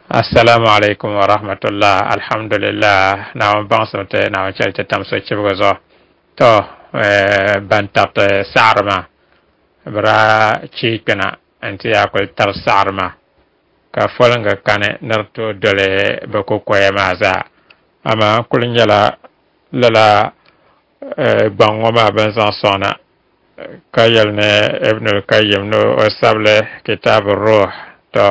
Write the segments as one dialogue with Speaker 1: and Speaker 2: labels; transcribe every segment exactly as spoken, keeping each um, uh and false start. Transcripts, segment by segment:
Speaker 1: Assalamu alaikum wa rahmatullah. Alhamdulillah. Naawuni baŋsim ti Naawuni chɛli ti tam sochibigi zuɣu. To ban tariti saɣari maa bɛ daa chii kpɛna n-ti yaa kuli tari saɣari maa ka folingi kani ni di tooi doli bɛ kukoya maa zaa. Amaa n kuli nyɛla lala gbaŋ ŋɔ maa bɛ ni zaŋ sɔŋ na ka yɛli ni Ibnul Qayyim ni o sabili Kitaabu Ruh to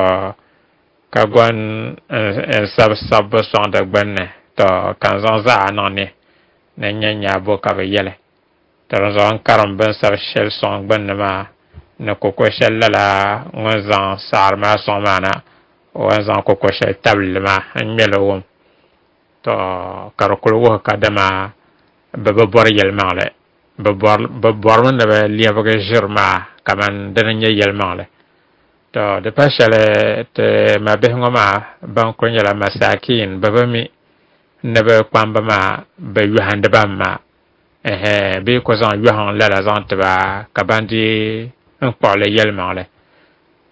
Speaker 1: ka gɔn n sabi sabbu sɔŋ di gbunni to ka n zaŋ zaɣa niŋ ni ni n nya nyaabo ka bɛ yɛli. To di zuɣu n karim bɛ ni sabi shɛli sɔŋ gbunni maa ni koko shɛli lala ŋun zaŋ saɣari maa sɔŋ maa na o ni zaŋ koko shɛli tabili maa n ŋmɛli wum. To ka di kuli wuhi kadama bɛ bi bɔri yɛlimaŋli. Bɛ bɔrimi ni bɛ lɛbigi ʒiri maa kaman dini n-nyɛ yɛlimaŋli. To di pa shɛli ti mabihi ŋɔ maa ban kuli nyɛla masakin bɛ bi mi ni bɛ kpamba maa bɛ yɔhindi ban maa. Ɛhɛn bɛ yi ku zaŋ yɔhiŋ lala zaŋ ti ba ka ban di n kpuɣili yɛlimaŋli.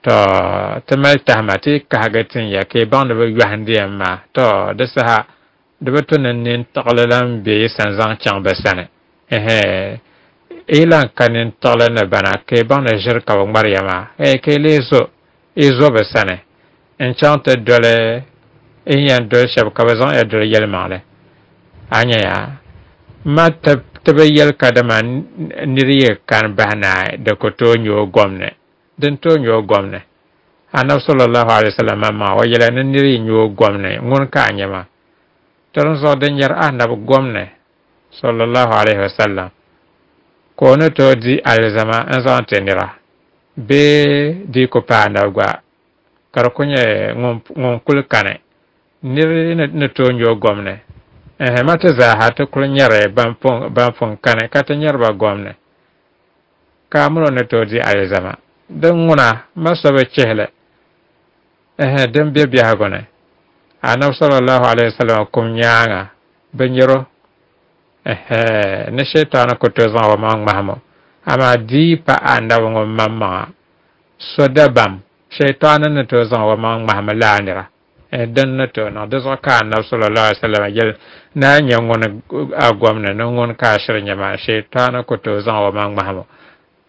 Speaker 1: To ti mali tahima ti yi kahigi tin ya ka yi baŋ ni bɛ yɔhindi ya maa. To di saha di bi tu ni nintiɣili lan be yi sani zaŋ chaŋ bɛ sani. Ɛhɛn yi lan ka nintiɣili ni bana ka yi baŋ ni ʒiri ka bɛ ŋmari ya maa. Ɛɛ ka yi lee zo yi zo bɛ sani n chaŋ ti doli n yɛn doli shɛba ka bɛ zaŋ ya doli yɛlimaŋli. A nya ya ma ti bi yɛli kadama niri yi kani bahi naai di ku tooi nyɛ o gomni. Din tooi nyɛ o gomni. Anabi sallallahu alaihi wasallam maŋmaŋa o yɛla ni niri yi nyɛ o gomni ŋuni ka a nyɛ maa. To din zuɣu din nyɛri anabi gomni sallallahu alaihi wasallam ka o ni tooi di alizama n zaŋ ti nira bee di ku paai anabi gba ka di ku nyɛ ŋun kuli kani niri ni tooi nyɛ o gomni. Ɛhɛn ma ti zaaha ti kuli nyɛri ban pun kani ka ti nyɛri ba gomni ka a mini o ni tooi di alizama. Din ŋuna ma so bi chihili. Ɛhɛn din be biɛhigu ni anabi sallallahu alaihi wasallam kum nyaaŋa bɛ nyɛro ɛhɛn ni shɛitaani ku tooi zaŋ o maŋ ŋmahimo. Amaa di pa anabi ŋun maŋmaŋa so dabam shɛitaani ni tooi zaŋ o maŋ ŋmahimi laa nira. Din ni tooi niŋ di zuɣu ka anabi sallallahu alaihi wasallam yɛli ni a nyɛ ŋuni a gomni ni ŋuni ka a shiri nyɛ maa shɛitaani ku tooi zaŋ o maŋ ŋmahimo.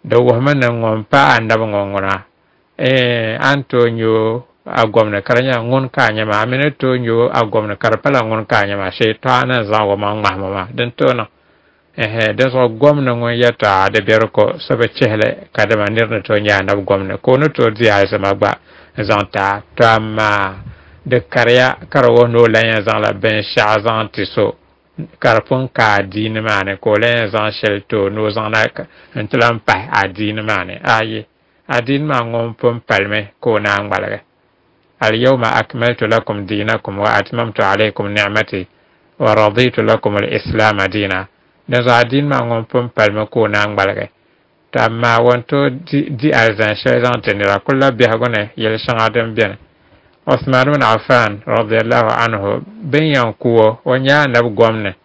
Speaker 1: Di wuhimi ni ŋun pa anabi ŋɔ ŋuna a ni tooi nyɛ o a gomni ka di nyɛla ŋuni ka a nyɛ maa a mi ni tooi nyɛ o a gomni ka di pala ŋuni ka a nyɛ maa shɛitaani n zaŋ o maŋ ŋmahimo maa din tooi niŋ. Ɛhɛn di zuɣu gomni ŋun yɛltɔɣa di be di ko so bi chihili kadama niri ni tooi nyɛ anabi gomni ka o ni tooi di alizama gba n zaŋ ti a. To amaa di kariya ka di wuhi ni o lan yɛn zaŋla binshɛɣu zaŋ ti so ka di pun ka adiini maa ni ka o lan yɛn zaŋ shɛli ti o ni o zaŋ na n ti lan pahi adiini maa ni. Ayi adiini maa ŋun pun palimi ka o naan ŋmaligi. Al-yawma akmaltu lakum dinakum wa atmamtu alaykum ni'mati wa raditu lakum al-islama dina. Din zuɣu adiini maa ŋun pun palimi ka o naan ŋmaligi. To amaa o ni tooi di alizan shɛli zaŋ ti nira kulila biɛhigu ni yɛli shɛŋa din beni. Uthman bin Affan radiyallahu anhu bin yɛn ku o o nyɛ anabi gomni.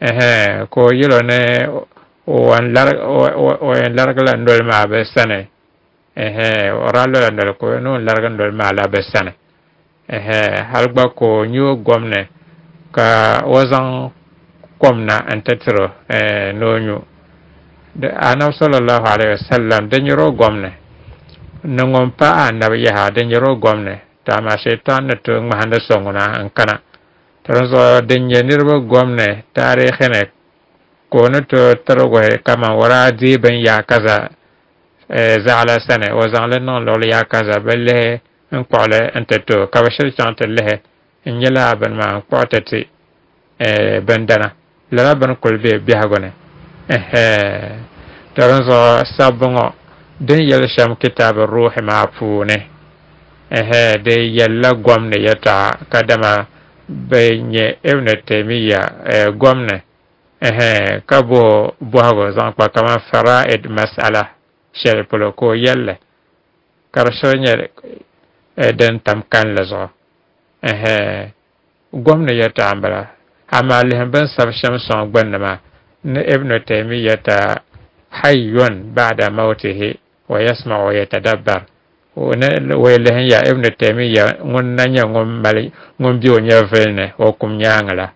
Speaker 1: Ɛhɛn ka o yɛl o ni o yɛn larigila noli maa bɛ sani. Ɛhɛn o daa lola noli ka o ni o larigi noli maa la bɛ sani. Ɛhɛn hali gba ka o nyɛ o gomni ka o zaŋ kom na n ti tiri o ni o nyu. Anabi sallallahu alaihi wasallam di nyɛri o gomni ni ŋun pa anabi yaha di nyɛri o gomni. To amaa shɛitan ni tooi ŋmahindi so ŋuna n kana. To di zuɣu din nyɛ niriba gomni taarihi ni ka o ni tooi tiri wuhi kaman o daa deei bin yaa kaza zaɣila sani o zaŋli niŋ luɣuli yaa kaza bɛ lihi n kpuɣili n ti ti o ka bɛ shiri chaŋ ti lihi n nyɛ lala bini maa n kpuɣi ti ti bindana. Lala bini kuli be biɛhigu ni. To di zuɣu sabbu ŋɔ din yɛli shɛm kitaabu ruhi maa puuni ɛhɛn di yɛlila gomni yɛltɔɣa kadama bɛ nyɛ Ibn Taymiya gomni ɛhɛn ka bo bɔhigu zaŋ kpa kaman fara'id mas'ala shɛli polo ka o yɛlli ka di shiri nyɛ din tam kanli zuɣu. Ɛhɛn gomni yɛltɔɣa n bala. Amaa lihim bɛ ni sabi shɛm sɔŋ gbunni maa ni Ibn Taymiya ta hayyun ba'da mawtihi wa yasma'u wa yatadabbar Wai lihin ya Ibn Taymiyyah ŋun na nyɛ ŋun mali ŋun be o nyɛvili ni o kum nyaaŋa la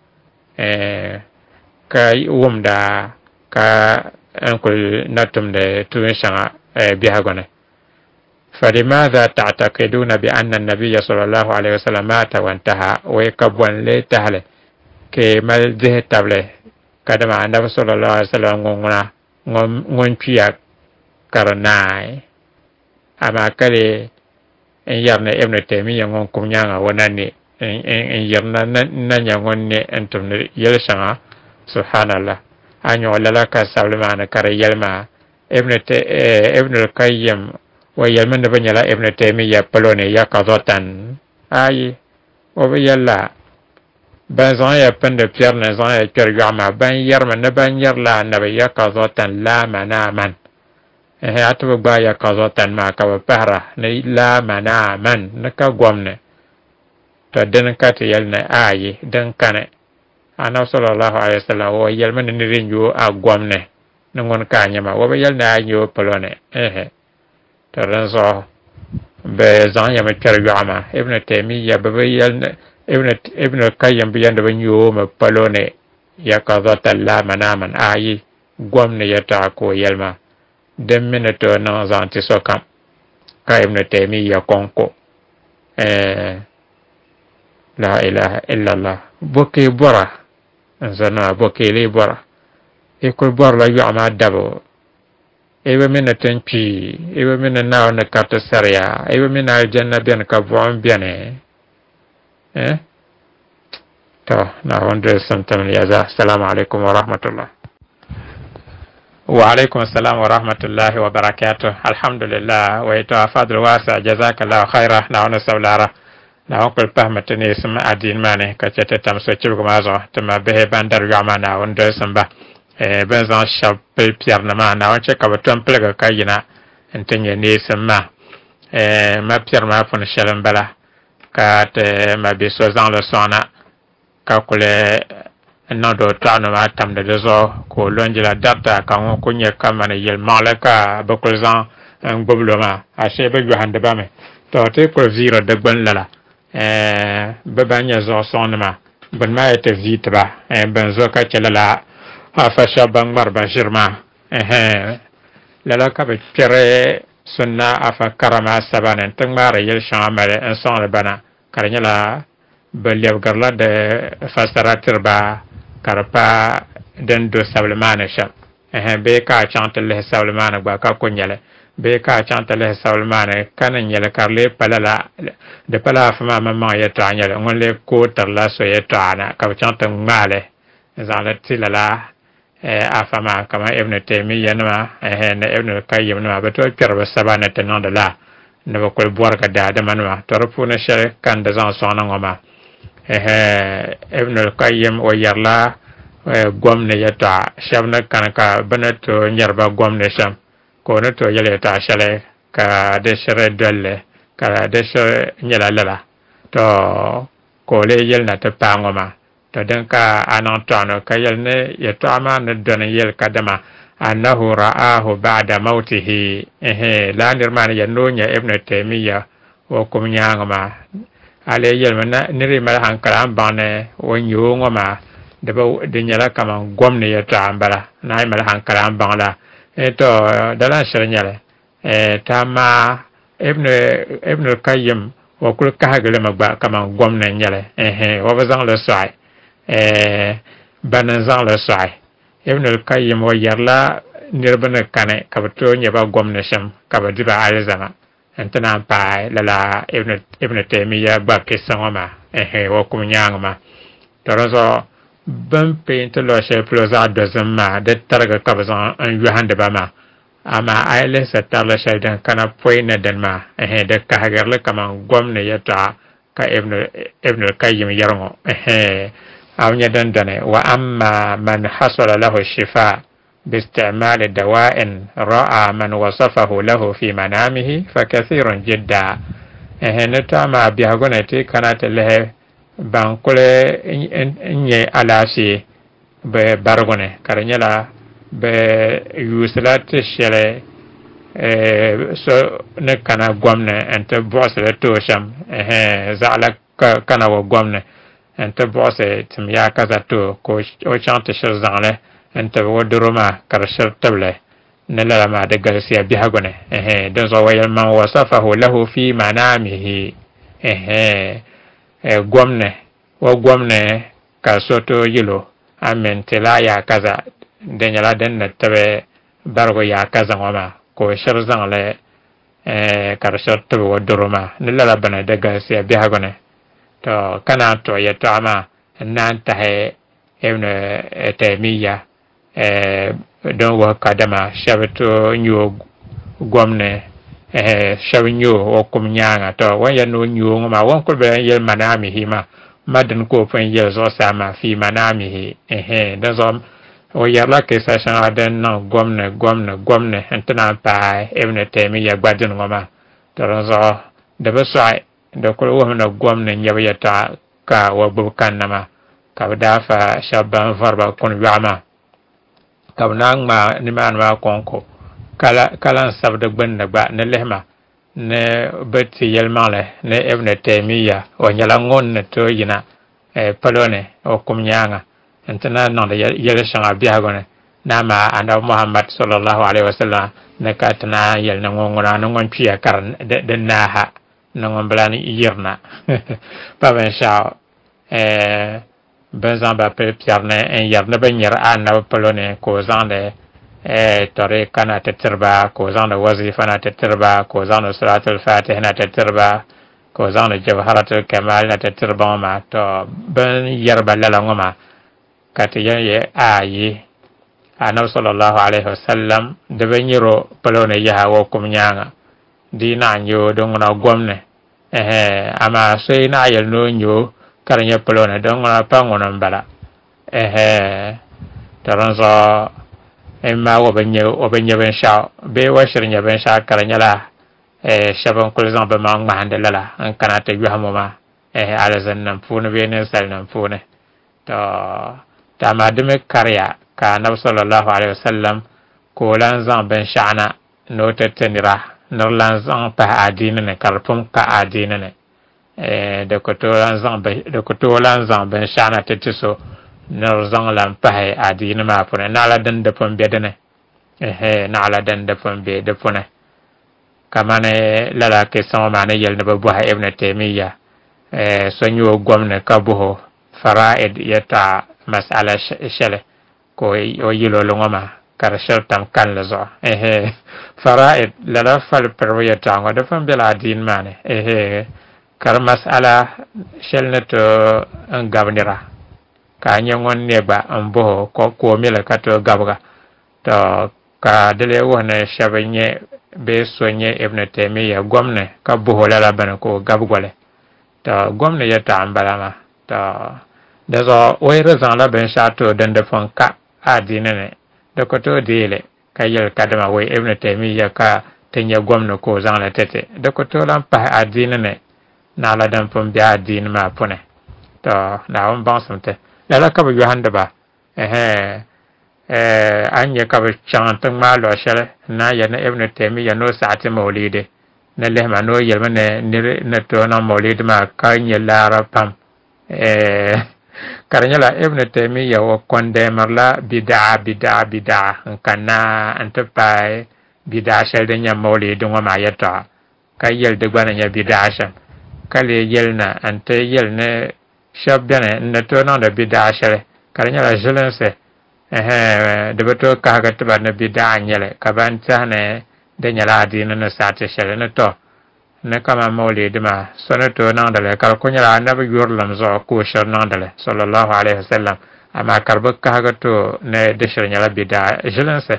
Speaker 1: ka wumda ka n kuli na tumdi tuun shɛŋa biɛhigu ni. فلماذا تعتقدون بأن النبي صلى الله عليه وسلم مات وانتهى ويكبون لي تهلي كي مال ذه تبلي كدما النبي صلى الله عليه وسلم ŋuna ŋun kpiya ka di naai amaa ka lee n yɛri ni Ibn Taymiyyah ŋun kum nyaaŋa o na ne n yirina na nyɛ ŋun ne n tumdi yɛli shɛŋa subhanallah a nyɛ lala ka sabili maa ni ka di yɛli maa Ibn al-Qayyim o yɛlimi ni bi nyɛla Ibn Taymiyyah palo ni yakazatan ayi o bi yɛlila ban zaŋ ya pindi piɛri ni zaŋ ya kpɛri yɔɣu maa ban yɛrimi ni ban yɛrila anabi yakazatan la manaman ehe a ti bi gbaai yakazatan maa ka bi pahira ni la manaman ni ka gom ni to dini ka ti yɛli ni ayi din kani anabi sallallahu alaihi wasallam o yɛlimi ni niri nyo a gom ni ni ŋun ka a nyɛma o bi yɛli ni a nyo palo ni ehe to din zuɣu bi zaŋ yami kpɛri yɔɣu maa Ibn Taymiyyah bi bi yɛli ni Ibn Ibn al-Qayyim bi yɛli ni bi nyoomi palo ni yakazatan la manaman ayi gom ni yɛltɔɣa ka o yɛli maa din mi ni tooi niŋ zaŋ ti sokam ka Ibn Taymiyyah kɔŋko la ilaha illallah bo ka i bɔra n zanima bo ka i lee bɔra i kuli bɔrila yɔɣu maa dabu i bi mi ni ti kpi i bi mi ni Naawuni ni kariti sariya i bi mi ni aljanna beni ka buɣum beni eh to Naawuni dolisim tim ya zaa. Assalamu alaikum wa rahmatullah. Wa alaikum assalam wa rahmatullahi wa barakatuh. Alhamdulillah wa ito afadul wasa jazakallahu khaira. Naawuni sablara Naawuni kuli pahimi ti neesim adiini maa ni ka chɛ ti tam sochibigi maa zuɣu ti ma bihi ban dari yɔɣu maa Naawuni dolisim ba bin zaŋ shɛba pili piɛri ni maa Naawuni chɛ ka bi tom piligi ka yina n ti nyɛ neesim maa ma piɛri maa puuni shɛli n bala ka ti ma bi so zaŋli sɔŋna ka kuli niŋdi o tɔɣano maa tamdi di zuɣu ka o lonjila darita ka ŋun ku nyɛ kamani yɛlimaŋli ka bi kuli zaŋ n gbubi lo maa ashee bi yɔhindi ba mi to ti kuli viiri di gbuni lala bi ban nyɛ zuɣu sɔŋ nima gbuni maa yi ti vii tiba bin zo ka chɛ lala afa shɛba ban ŋmari ba ʒiri maa lala ka bi kpɛri sunna afa kara maa saba ni n ti ŋmaari yɛli shɛŋa mali n sɔŋdi bana ka di nyɛla bi lɛbigirila di fasara tiri ba ka di pa din do sabili maa ni shɛm bee ka a chaŋ ti lihi sabili maa ni gba ka ku nyɛli bee ka a chaŋ ti lihi sabili maa ni ka ni nyɛli ka di lee pa lala di pala afa maa maŋmaŋ yɛltɔɣa nyɛli ŋun lee kootirila so yɛltɔɣa na ka bi chaŋ ti ŋmaali n zaŋli ti lala afa maa kamani Ibn Taymiyyah nima ni Ibn al-Qayyim nima bi tooi kpɛri bi saba ni ti niŋdi la ni bi kuli bɔrigi daadama nima to di puuni shɛli ka n di zaŋ sɔŋ na ŋɔ maa Ibn al-Qayyim o yɛrila gom ni yɛltɔɣa shɛba ni kani ka bi ni tooi nyɛri ba gom ni shɛm ka o ni tooi yɛli yɛltɔɣa shɛli ka di shiri dolli ka di shiri nyɛla lala to ka o lee yɛli na ti paai ŋɔ maa to din ka a niŋ tɔɣano ka yɛli ni yɛltɔɣa maa ni dɔni yɛli kadama annahu ra'ahu ba'da mawtihi ehe laa niri maa ni yɛli ni o nyɛ Ibn Taymiyyah o kum nyaaŋa maa a lee yɛlimi niri mali hankali a ni baŋ ni o nyɛ o ŋɔ maa di nyɛla kaman gom ni yɛltɔɣa n bala ni a yi mali hankali a ni baŋ la to di lan shiri nyɛli to amaa Ibn al-Qayyim o kuli kahigilimi gba kaman gom ni n nyɛli ehe o bi zaŋli sɔɣi bani n zaŋli sɔɣi Ibn al-Qayyim o yɛrila niriba ni kani ka bi tooi nyɛ ba gom ni shɛm ka bi di ba alizama n ti naan paai lala Ibn Taymiyyah gba kisa ŋɔ maa ehe o kum nyaaŋa maa to di zuɣu bin peenti luɣu shɛli polo zaɣ dozim maa di tarigi ka bi zaŋ n yɔhindi ba maa amaa a yi lihi satarili shɛli din kana pɔi ni dini maa ehe di kahigirili kaman gom ni yɛltɔɣa ka Ibn al-Qayyim yɛri ŋɔ ehe a nyɛ din dɔni wa amma man hasala lahu shifa باستعمال دواء رأى من وصفه له في منامه فكثير جدا ehe ni tɔɣa maa biɛhigu ni ti kana ti lihi ban kuli nyɛ alaafee bi barigu ni ka di nyɛla bi yuusila ti shɛli So ni kana gomni n-ti buɣisili ti o shɛm zaɣila kana o gomni n-ti buɣisi tim yaa kaza ti o ka o chaŋ ti shiri zaŋli n-tibi o doro maa ka di shiri tibili ni lala maa di galisiya biɛhigu ni. Dinzuɣu o yɛli man wasafahu lahu fi manamihi gomni o gomni ka so tooi yɛl o amin ti laa yaa kaza di nyɛla din ni tibi barigu yaa kaza ŋɔ maa ka o shiri zaŋli ka di shiri tibi o doro maa ni lala bini di galisiya biɛhigu ni. To ka naan tuɣi yɛltɔɣa maa n naan tahi Ibn Taymiya din wuhi kadama shɛba tooi nyu o gomni shɛba nyu o kum nyaanga. To o ni yɛli ni o nyu o ŋɔ maa o ni kuli bi lan yɛli manamihi maa ma dini ka o pun yɛli zuɣusaa maa fi manamihi. Dinzuɣu o yɛrila kisa shɛŋa din niŋ gomni gomni gomni n-ti naan paai Ibn Taymiya gba dini ŋɔ maa. To dinzuɣu di bi sɔɣi di kuli wuhimi ni gomni nyɛbu yɛltɔɣa ka o gbubi kanna maa ka bɛ daa fa shɛba ban vɔriba kuni yɔɣu maa ka bɛ naan ŋmaai nimaani maa kɔŋko ka lan sabi di gbunni gba ni lihima ni bɛ ti yɛlimaŋli ni Ibn Taymiya o nyɛla ŋun ni tooi yina palo ni o kum nyaanga n-ti na niŋdi yɛli shɛŋa biɛhigu ni ni amaa Anabi Muhammad sallallahu alaihi wasallam ni ka ti naan yɛli ni ŋun ŋuna ni ŋun kpiya ka di naai ha ni ŋun bi lan yirina pa binshɛɣu bɛn zaŋ ba pili piɛri ni n-yɛri ni bɛ nyari Anabi palo ni ka o zaŋdi tɔrika na ti tiri ba ka o zaŋdi wazifa na ti tiri ba ka o zaŋdi suratul fatihi na ti tiri ba ka o zaŋdi jawharatul kamal na ti tiri ba ŋɔ maa. To bɛn yɛri ba lala ŋɔ maa ka ti yɛn yɛ ayi Anabi sallallahu alaihi wasallam di bi nyari o palo ni yaha o kum nyaanga di naɣ nyɛ o din ŋuna gomni amaa so yi naɣ yɛli ni o nyɛ o ka di nyɛ palo ni din ŋuna pa ŋuni m-bala. To dinzuɣu imma o bi nyɛ binshɛɣu bee o shiri nyɛ binshɛɣu ka di nyɛla shɛba n-kuli zaŋ bɛ maŋ ŋmahindi lala n-kana ti yɔhim o maa alizinnim puuni bee ninsalinima puuni. To to amaa di mi kariya ka Anabi sallallahu alaihi wasallam ka o lan zaŋ binshɛɣu na ni o ti ti nira ni di lan zaŋ pahi adiini ni ka di pun ka adiini ni di ku tooi lan zaŋ binshɛɣu na ti ti so ni di zaŋ lan pahi adiini maa puuni naɣila din di pun be dini naɣila din di pun be di puuni kamani lala kisa ŋɔ maa ni yɛli ni bɛ bɔhi Ibn Taymiya so nyɛ o gomni ka buhi o fara'id yɛltɔɣa masala shɛli ka o yɛl o li ŋɔ maa ka di shiri tam kanli zuɣu. Fara'id lala fali piribu yɛltɔɣa ŋɔ di pun bela adiini maa ni ka di masala shɛli ni tooi n gabi nira ka a nyɛ ŋun ne gba n buhi o ka o mi li ka tooi gabiga. To ka di lee wuhi ni shɛba nyɛ bee so nyɛ Ibn Taymiya gomni ka buhi o lala bini ka o gabi goli. To gomni yɛltɔɣa m-bala maa. To dinzuɣu o yi di zaŋla binshɛɣu ti o din di pun ka adiini ni di ku tooi deei li ka yɛli kadama wai Ibn Taymiya ka ti nyɛ gomni ka o zaŋli ti ti di ku tooi lan pahi adiini ni naɣila din pun be adiini maa puuni. To Naawuni baŋsim ti lala ka bɛ yɔhindi ba a ni nyɛ ka bɛ chaŋ n-ti ŋmaai luɣ shɛli n-naan yɛli ni Ibn Taymiya ni o saɣi ti maulidi ni lihima ni o yɛlimi ni nir ni tooi niŋ maulidi maa ka nyɛ laara pam ka di nyɛla Ibn Taymiya o kɔndɛɛmirila bidaa bidaa bidaa n-kanna n-ti paai bidaa shɛli din nyɛ maulidi ŋɔ maa yɛltɔɣa ka yɛli di gba ni nyɛ bidaa shɛm ka lee yɛli na n-ti yɛli ni shɛba beni n-ni tooi niŋdi bidaa shɛli ka di nyɛla ʒilinsi di bi tooi kahigi tiba ni bidaa n-nyɛli ka ban tɛhi ni di nyɛla adiini ni saɣiti shɛli ni to ni kaman maulidi maa so ni tooi niŋdi li ka di ku nyɛla Anabi yurilim zuɣu ka o shiri niŋdi li sallallahu alaihi wasallam amaa ka di bi kahigi ti o ni di shiri nyɛla bidaa ʒilinsi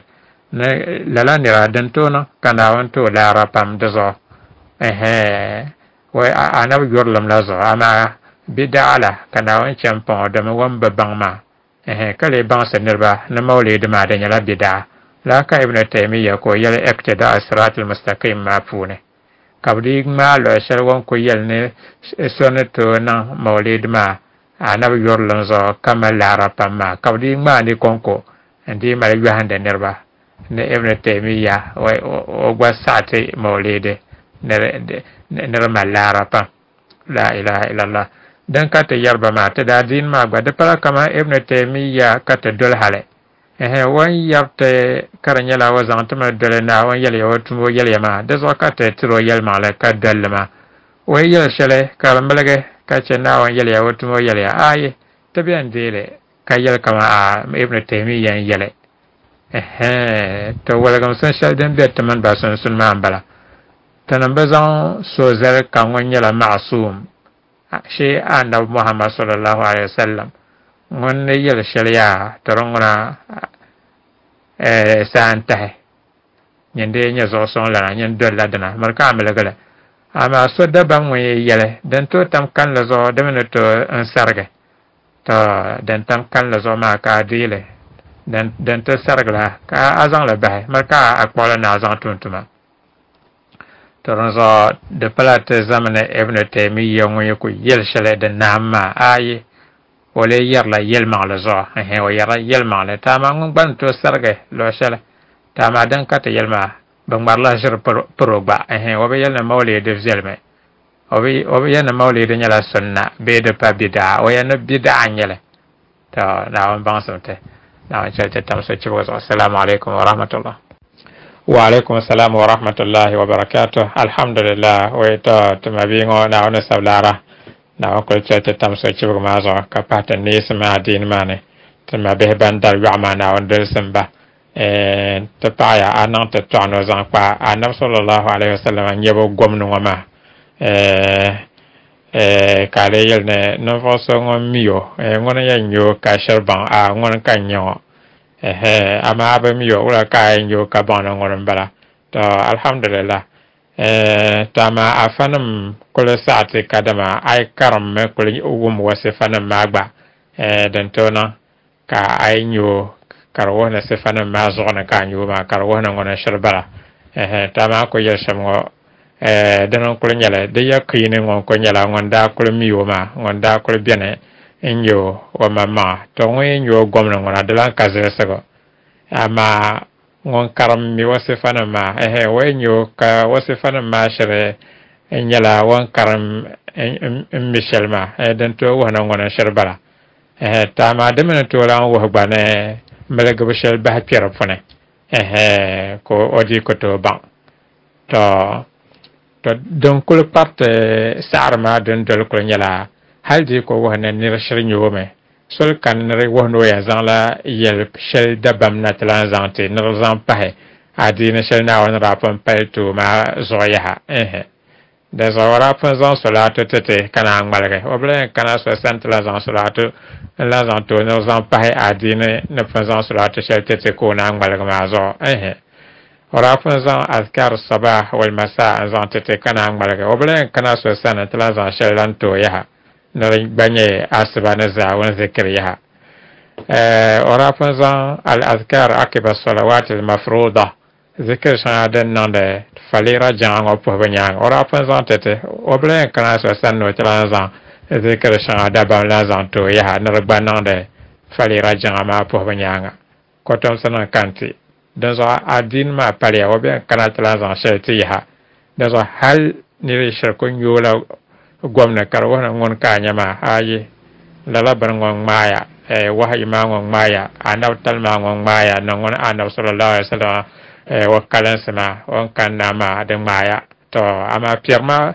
Speaker 1: ni lala nira din tooi niŋ ka Naawuni ti o laara pam di zuɣu Anabi yurilim la zuɣu amaa bidaa la ka Naawuni chɛ m-paŋ o domi o ni bi baŋ maa ka lee baŋsi niriba ni maulidi maa di nyɛla bidaa lala ka Ibn Taymiya ka o yɛli Iqtidaa Siratul Mustaqim maa puuni ka bɛ dii ŋmaai luɣ shɛli o ni ku yɛli ni so ni tooi niŋ maulidi maa Anabi yurilim zuɣu ka mali laara pam maa ka bɛ dii ŋmaai ni kɔŋko n-dii mali yɔhindi niriba Ni Ibn Taymiyyah o gba saɣati maulidi ni ni di mali laara pam. La ilaha illallah. Din ka ti yɛri ba maa, ti daa diini maa gba di pala kamani Ibn Taymiyyah ka ti doli hali. Ɛhɛn, o ni yɛri ti ka di nyɛla o zaŋ ti mi doli Naawuni yɛliya o tumo yɛliya maa, di zuɣu ka ti tiri o yɛlimaŋli ka doli li maa. O yi yɛli shɛli ka di miligi ka chɛ Naawuni yɛliya o tumo yɛliya, aai, ti bɛn deei li ka yɛli kaman a Ibn Taymiyyah n-yɛli. Ɛhɛn, ti waligimsim shɛli din be ti mini ba sunsuuni maa m-bala. Tinim bi zaŋ so zali ka ŋun nyɛla ma'asuum, shee Anabi Muhammad sallallahu alaihi wasallam ŋun ni yɛli shɛli yaa, to di ŋuna saa n-tahi, nyin dee nyɛ zuɣusuŋlana, nyin dolila dina, miri ka a miligi li. Amaa so dabam ŋun yi yɛli, din tooi tam kalinli zuɣu di mi ni tooi n-sarigi, to din tam kalinli zuɣu maa ka a deei li, din, din ti sarigi la ka a zaŋ li bahi, miri ka a kpuɣi li ni a zaŋ tum tuma. To dinzuɣu di pala ti zamini Ibn Taymiyyah ŋun yi kul yɛli shɛli di nahim maa, ayi, o lee yɛrila yɛlimaŋli zuɣu, ɛhɛn, o yɛrila yɛlimaŋli, to amaa ŋun gba ni tooi sarigi luɣ shɛli, to amaa din ka ti yɛli maa, bɛ ŋmarila ʒiri piri o gba, ɛhɛn, o bi yɛli ni maulidi viɛlimi, o bi, o bi yɛli ni maulidi nyɛla sunna bee di pa bidaa, o yɛli ni bidaa n-nyɛ li. To Naawuni baŋsim ti, Naawuni chɛli ti tam sochibigi zuɣu. Assalamu alaikum wa rahmatullah. Wa alaikum salam wa rahmatullahi wa barakatuh. Alhamdulillah, wai to ti mabii ŋɔ Naawuni sablaara, Naawuni kuli chɛli ti tam sochibigi maa zuɣu ka pahi ti neesim adiini maa ni. Ti mabihi ban dari yɔɣu maa Naawuni dolisim ba. Ti paɣaya a niŋ ti tɔɣu ni o zaŋ kpa Anabi sallallahu alaihi wasallam nyɛbu gomni ŋɔ maa. Ka a lee yɛli ni ninvuɣ so ŋun mi o, ŋuni yɛn nya o ka shiri baŋ a ŋuni ka n-nyɛ ŋɔ. Amaa a bi mi o, wula ka a yɛn nya o ka baŋ ni ŋuni m-bala? To, alhamdulillah. To amaa afanim kuli saɣi ti kadama a yi karimmi kuli wum o sifanim maa gba, din tooi niŋ ka a yi nya o ka di wuhi ni sifanim maa zuɣu ni ka a nya o maa, ka di wuhi ni ŋuni n-shiri bala. To amaa a ku yɛli shɛm ŋɔ, dini n-kuli nyɛli, di yakiini ŋɔ n-kuli nyɛla ŋun daa kuli mi o maa, ŋun daa kuli beni n-nyɛ o o maŋmaŋa. To ŋun yi nya o gomni ŋuna, di lan ka zilisigu. Amaa ŋun karim mi o sifanim maa, ɛhɛn, o yi nya o ka o sifanim maa shiri n-nyɛla o ni karim m-mi shɛli maa, din tooi wuhi ni ŋuni n-shiri bala. Ɛhɛn, to amaa di mi ni tooi lan wuhi gba ni miligibu shɛli bahi kpe di puuni, ɛhɛn, ka o dii ku tooi baŋ. To, to din kuli kpariti saɣiri maa dundoli kuli nyɛla hali di ku wuhi ni nir shiri nya o mi. Soli kani ni di wuhi ni o yɛn zaŋla yɛl shɛli dabam na ti lan zaŋ ti ni di zaŋ pahi adiini shɛli Naawuni ni daa pun pali ti o maa zuɣu yaha. Ɛhɛ. Di zuɣu o daa pun zaŋ solaatu ti ti ka naan ŋmaligi. O bi lan yɛn kana so sani ti lan zaŋ solaatu n-lan zaŋ ti o ni di zaŋ pahi adiini ni pun zaŋ solaatu shɛli ti ti ka o naan ŋmaligi maa zuɣu. Ɛhɛ. O daa pun zaŋ azkar sabah wal masa n-zaŋ ti ti ka naan ŋmaligi. O bi lan yɛn kana so sani ti lan zaŋ shɛli lan ti o yaha ni di gba nyɛ asiba ni zaawuni zikiri yaha. O daa pun zaŋ al-azkar akiba salawat al-mafruda, zikiri shɛŋa din niŋdi falira jaŋa ŋɔ puhibu nyaaŋa. O daa pun zaŋ ti ti, o bi lan yɛn kana so sani ni o ti lan zaŋ zikiri shɛŋa dabam lan zaŋ ti o yaha ni di gba niŋdi falira jaŋa maa puhibu nyaaŋa. Kɔtomsi niŋ kanti. Dinzuɣu adiini maa paliya, o bɛn kana ti lan zaŋ shɛli ti yaha. Dinzuɣu hal nir yi shiri ku nya o la gomni ka di wuhi ni ŋuni ka a nya maa, ayi, lala bini ŋɔ ŋmaaya, wahayi maa ŋɔ ŋmaaya, anabitali maa ŋɔ ŋmaaya ni ŋuni Anabi sallallahu alaihi wasallam o kalinsi maa, o ni kanna maa di ŋmaaya. To, amaa piɛri maa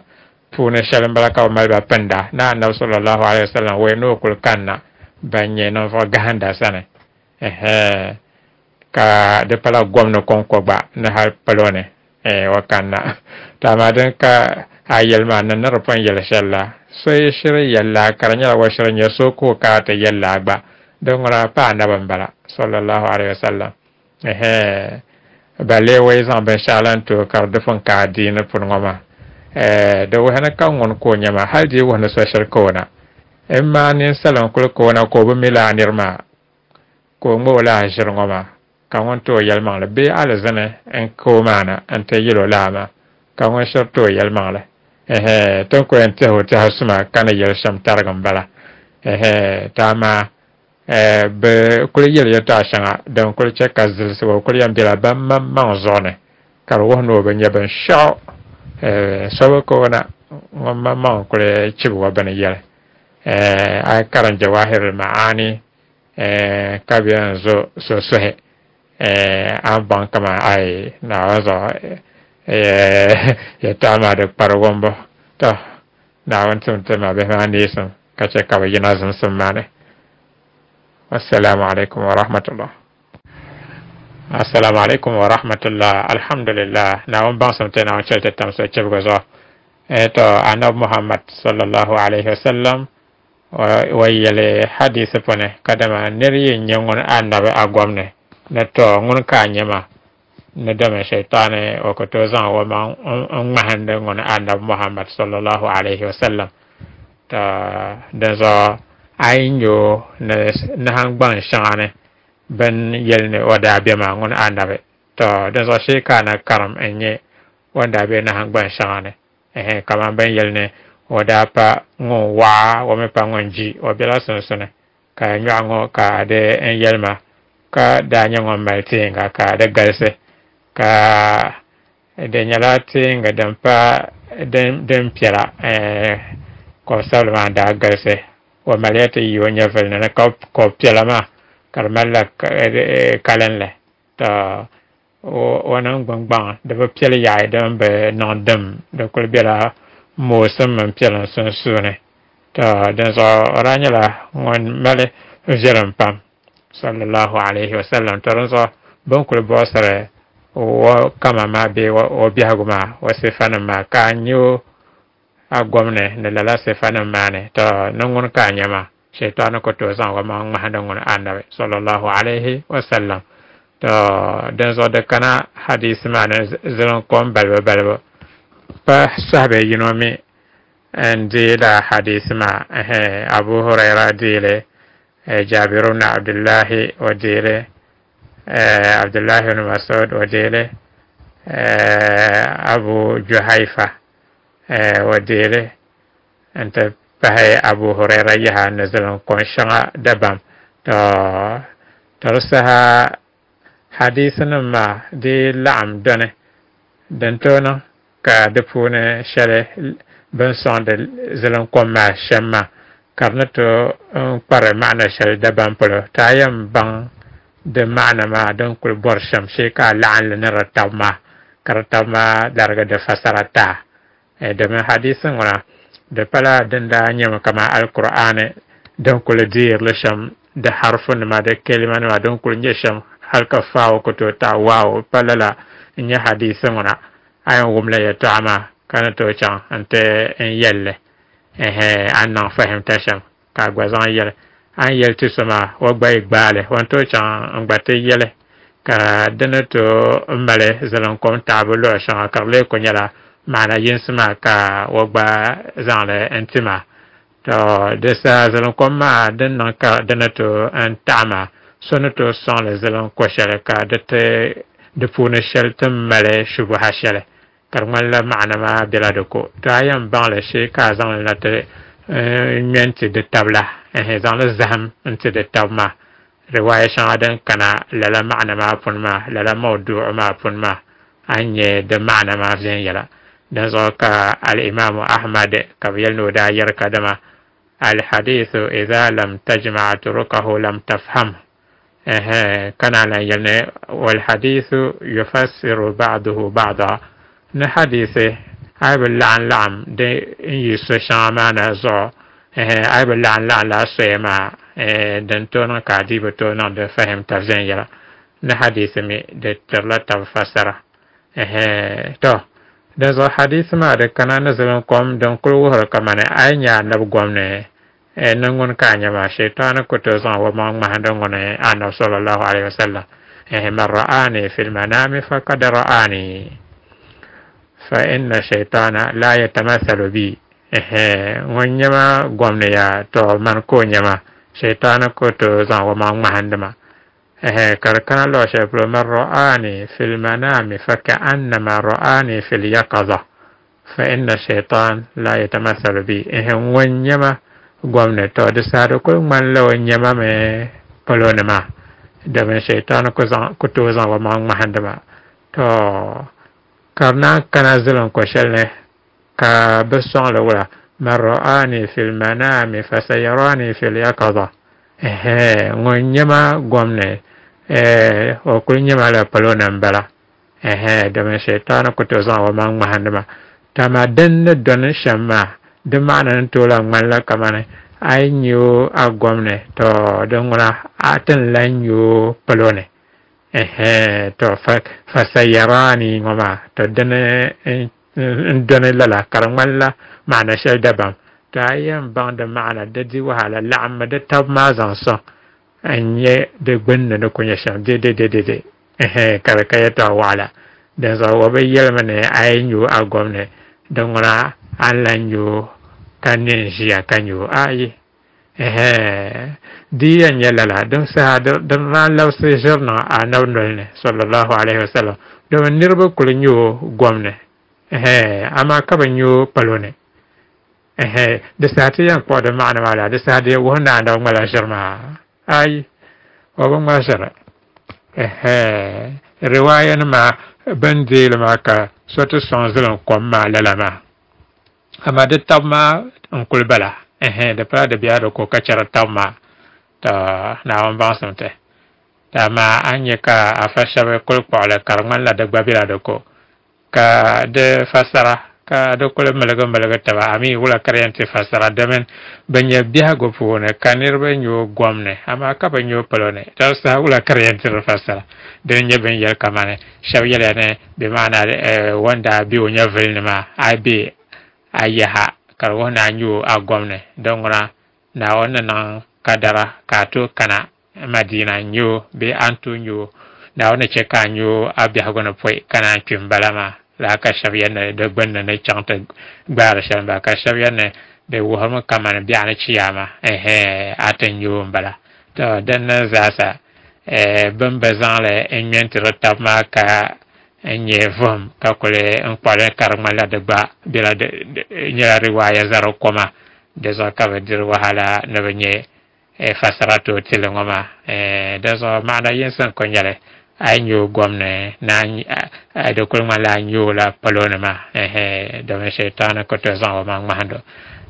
Speaker 1: puuni shɛli m-bala ka bɛ mali ba pinda ni Anabi sallallahu alaihi wasallam wuhi ni o kuli kanna ban nyɛ ninvuɣ gahinda sani. Ɛhɛn, ka di pala gomni kɔŋko gba ni hal palo ni o kanna. To amaa din ka a yɛli maa ni ni di pun yɛli shɛli la, so yi shiri yɛli la ka di nyɛla o shiri nyɛ so ka o kana ti yɛli la gba, din ŋuna pa Anabi m-bala sallallahu alaihi wasallam. Ɛhɛn, balee o yi zaŋ binshɛɣu lan ti o ka di di pun ka adiini puni ŋɔ maa, ɛɛ, di wuhi ni ka ŋuni ka o nya maa, hal di yi wuhi ni so shiri ka o na. M-maa ninsal n-kuli ka o na ka o bi mi lala niri maa, ka o ŋma o lala ʒiri ŋɔ maa, ka ŋun ti o yɛlimaŋli bee alizini n-ka o maa na nti yɛl o lala maa, ka ŋun shiri ti o yɛlimaŋli. Ɛhɛɛ, ti ni ku yɛn tɛhi o tɛha suma ka ni yɛli shɛm tarigi m-bala. Ɛhɛɛ, to amaa Bɛ kuli yɛli yɛltɔɣa shɛŋa din kuli chɛ ka zilisi o kuli yɛn bela ban maŋmaŋ zuɣu ni ka di wuhi ni o bi nya binshɛɣu so bi ka o na ŋun maŋmaŋ kuli chibi o bini yɛli a yi karim Jawahirul Ma'ani ka bɛ yɛn zo so suhi a ni baŋ kaman ai Naawuni zuɣu yɛltɔɣa maa di kpari wumbu. Tɔ Naawuni tim ti ma bihi maa neesim ka chɛ ka bɛ yina zimsim maa ni. Wassalamu alaikum wa rahmatullah. Assalamu alaikum wa rahmatullah. Alhamdulillah. Naawuni baŋsim ti Naawuni chɛli ti tam so chibigu zuɣu. To Annabi Muhammad sallallahu alaihi wasallam wa yɛli hadisi puni kadama nir yi nyɛ ŋun annabi a gom ni ni to ŋun ka a nyɛ ma ni domi shaitani o ku tooi zaŋ o maŋ n-ŋmahindi ŋun annabi Muhammad sallallahu alaihi wasallam. To dinzuɣu a yi nya o ni nahangbaŋ shɛŋa ni bin yɛli ni o daa be maa ŋun annabi. To dinzuɣu shee ka a na karim n-nyɛ o ni daa be nahangbaŋ shɛŋa ni. Kaman bin yɛli ni o daa pa ŋun waɣa o mi pa ŋun ji o bela sunsuni ka nyɔɣu ŋɔ ka di n yɛli ma ka daa nyɛ ŋun mali teenga ka di galisi ka di nyɛla teenga din pa din piɛla kɔbisabili maa daa galisi o maliya ti yi o nyɛvuli ni ni kɔb piɛla maa ka di malila kalinli. To o niŋgbungbaŋ di bi piɛli yaɣi din bi niŋ dim di kuli bela moosim mini piɛlim sunsuuni. To dinzuɣu o daa nyɛla ŋun mali viɛlim pam sallallahu alaihi wasallam. To dinzuɣu bin kuli buɣisiri o kama maa bee o biɛhigu maa o sifanim maa ka a nya o a gom ni ni lala sifanim maa ni. To ni ŋuni ka a nya maa shaitani ku tooi zaŋ o maŋ ŋmahindi ŋuni annabi sallallahu alaihi wasallam. To dinzuɣu di kana hadisi maa ni zilinkom balibu balibu pa sahabi yino mi n deela hadisi maa. Abu Huraira deeli, Jabir ibn Abdullahi o deeli, Abdullahi ibn Mas'ud o deeli, Abu Juhayfa o deeli n-ti pahi Abu Huraira yaha ni zilinkom shɛŋa dabam. To to di saha hadisi nim maa di laɣim dɔni din tooi niŋ ka di puuni shɛli bin sɔŋdi zilinkom maa shɛm maa ka di ni tooi n kpari maana shɛli dabam polo. To a yɛn baŋ di maana maa din kuli bɔri shɛm shee ka a laɣim li ni di tabi maa ka di tabi maa darigi di fasara taa. Domin hadisi ŋuna di pala din daa nyɛmi kaman Alkur'aani din kuli deerili shɛm di harfu nima di kalima nima din kuli nyɛ shɛm hali ka faawo ku tooi taɣi waawo pa lala n nyɛ hadisi ŋuna a yɛn wumla yɛltɔɣa maa ka ni tooi chaŋ n-ti n yɛlli a ni niŋ fahimta shɛm ka a gba zaŋ yɛli a ni yɛli ti so maa o gba yi gbaali o ni tooi chaŋ n gba ti yɛli ka di ni tooi mali zilinkom taɣibu luɣu shɛŋa ka di lee ku nyɛla maana yinsi maa ka o gba zaŋli n ti ma. To di saha zilinkom maa din niŋ ka di ni tooi n taɣi maa so ni tooi sɔŋli zilinko shɛli ka di ti di puuni shɛli ti mali shubuha shɛli ka di ŋmanila maana maa bela di ko. To a yɛn baŋli shee ka a zaŋli na ti ŋmɛ n-ti di tabila zaŋli zahim n-ti di tabi maa riwaaya shɛŋa din kana lala maana maa puni maa lala mawduɣu maa puni maa a ni nyɛ di maana maa viɛnyɛla. Dinzuɣu ka al-Imaamu Ahmad ka bɛ yɛli ni o daa yɛri kadama al-hadithu idha lam tajma'a turukahu lam tafham. Kana lan yɛli ni wal-hadithu yufassiru ba'duhu ba'da ni hadisi a yi bi laɣim laɣim di n yi so shɛŋa maa na zuɣu a yi bi laɣim laɣim lala soya maa din tooi niŋ ka a dii bi tooi niŋ di fahimta viɛnyɛla ni hadisi mi di tirila tabi fasara. To dinzuɣu hadisi maa di kana ni zilinkom din kuli wuhiri kamani a yi nya annabi gom ni ni ŋuni ka a nya maa shaitani ku tooi zaŋ o maŋ ŋmahindi ŋuni annabi sallallahu alaihi wasallam. Man ra'ani fil manami faqad ra'ani fa inna shaitana la yatamathalu bi. Ŋun nyɛma gom ni yaa to man ka o nyɛma shaitani ku tooi zaŋ o maŋ ŋmahindi ma. Ka di kana luɣu shɛli polo man ra'ani fil manami fa ka'annama ra'ani fil yaqaza fa inna shaitan la yatamathalu bi. Ŋun nyɛma gom ni to di saha di kuli ŋmanila o nyɛma mi palo ni maa domin shaitan ku zaŋ ku tooi zaŋ o maŋ ŋmahindi ma to ka di naan kana zilim ko shɛli ni ka bi sɔŋli wula man ra'ani fil manami fasayarani fil yaqaza ehe ŋun nyɛma gom ni o kuli nyɛma la palo ni m-bala ehe domin shaitan ku tooi zaŋ o maŋ ŋmahindi ma to amaa din ni dɔni shɛm maa di maɣani ni tooi lahi ŋmanila kamani a yi nya o a gom ni to din ŋuna a ti ni lahi nya o palo ni ehe to fasayarani ŋɔ maa to dini n dɔni lala ka di ŋmanila maana shɛli dabam to a yɛn baŋ di maana di di wahala laɣimmi di tabi maa zaŋ sɔŋ n nyɛ di gbunni ni ku nyɛ shɛm dididididi ehe ka di ka yɛtɔɣa waɣala dinzuɣu o bi yɛlimi ni a yi nya o a gom ni din ŋuna a ni lahi nya o ka ne n ʒiya ka nya o ayi ehe di yɛn nyɛ lala din saha din naan labisi ʒiri niŋ anabi noli ni sallallahu alaihi wasallam domin niriba kuli nya o gom ni ehe amaa ka bi nya o palo ni ehe di saha ti yɛn kpuɣi di maɣani maa la di saha di wuhi ni anabi ŋmala ʒiri maa ayi o bi ŋma ʒiri ehe riwaaya nima bin deeli maa ka so ti sɔŋ zilim kom maa lala maa amaa di tabi maa n kuli bala ehe di pala di biɛla di ko ka chɛri tabi maa to Naawuni baŋsim ti to amaa a ni nyɛ ka afa shɛba kuli kpuɣili ka di ŋmanila di gba bela di ko ka di fasara ka di kuli miligi miligi taba ami wula ka di yɛn ti fasara domin bi nyɛ biɛhigu puuni ka niriba nya o gom ni amaa ka bi nya o palo ni di saha wula ka di yɛn ti di fasara din nyɛ bin yɛli kamani shɛba yɛliya ni bi maana o ni daa be o nyɛvuli ni maa a be a yaha ka di wuhi ni a nya o a gom ni din ŋuna Naawuni ni niŋ kadara ka a tooi kana Madina n nya o bee a ni tooi nya o Naawuni ni chɛ ka a nya o a biɛhigu ni pɔi ka naan kpi m-bala maa lala ka shɛba yɛli ni di gbunni ni chaŋ ti gbaari shɛli m-bala ka shɛba yɛli ni di wuhirimi kamani biɛɣu ni chiyaama ɛhɛɛ a ti nya o m-bala to din ni zaasa bɛ ni bi zaŋli n-ŋme n-ti di taba maa ka n nyɛ vuhim ka kuli n kpuɣili ka di ŋmanila di gba bela nyɛla riwaaya za di koma di zuɣu ka bɛ diri wahala ni bɛ nyɛ fasara tooi tili ŋɔ maa di zuɣu maana yinsi n ku nyɛli a yi nya o gom ni di kuli ŋmanila a nya o la palo ni maa domin shaitan ku tooi zaŋ o maŋ ŋmahindi o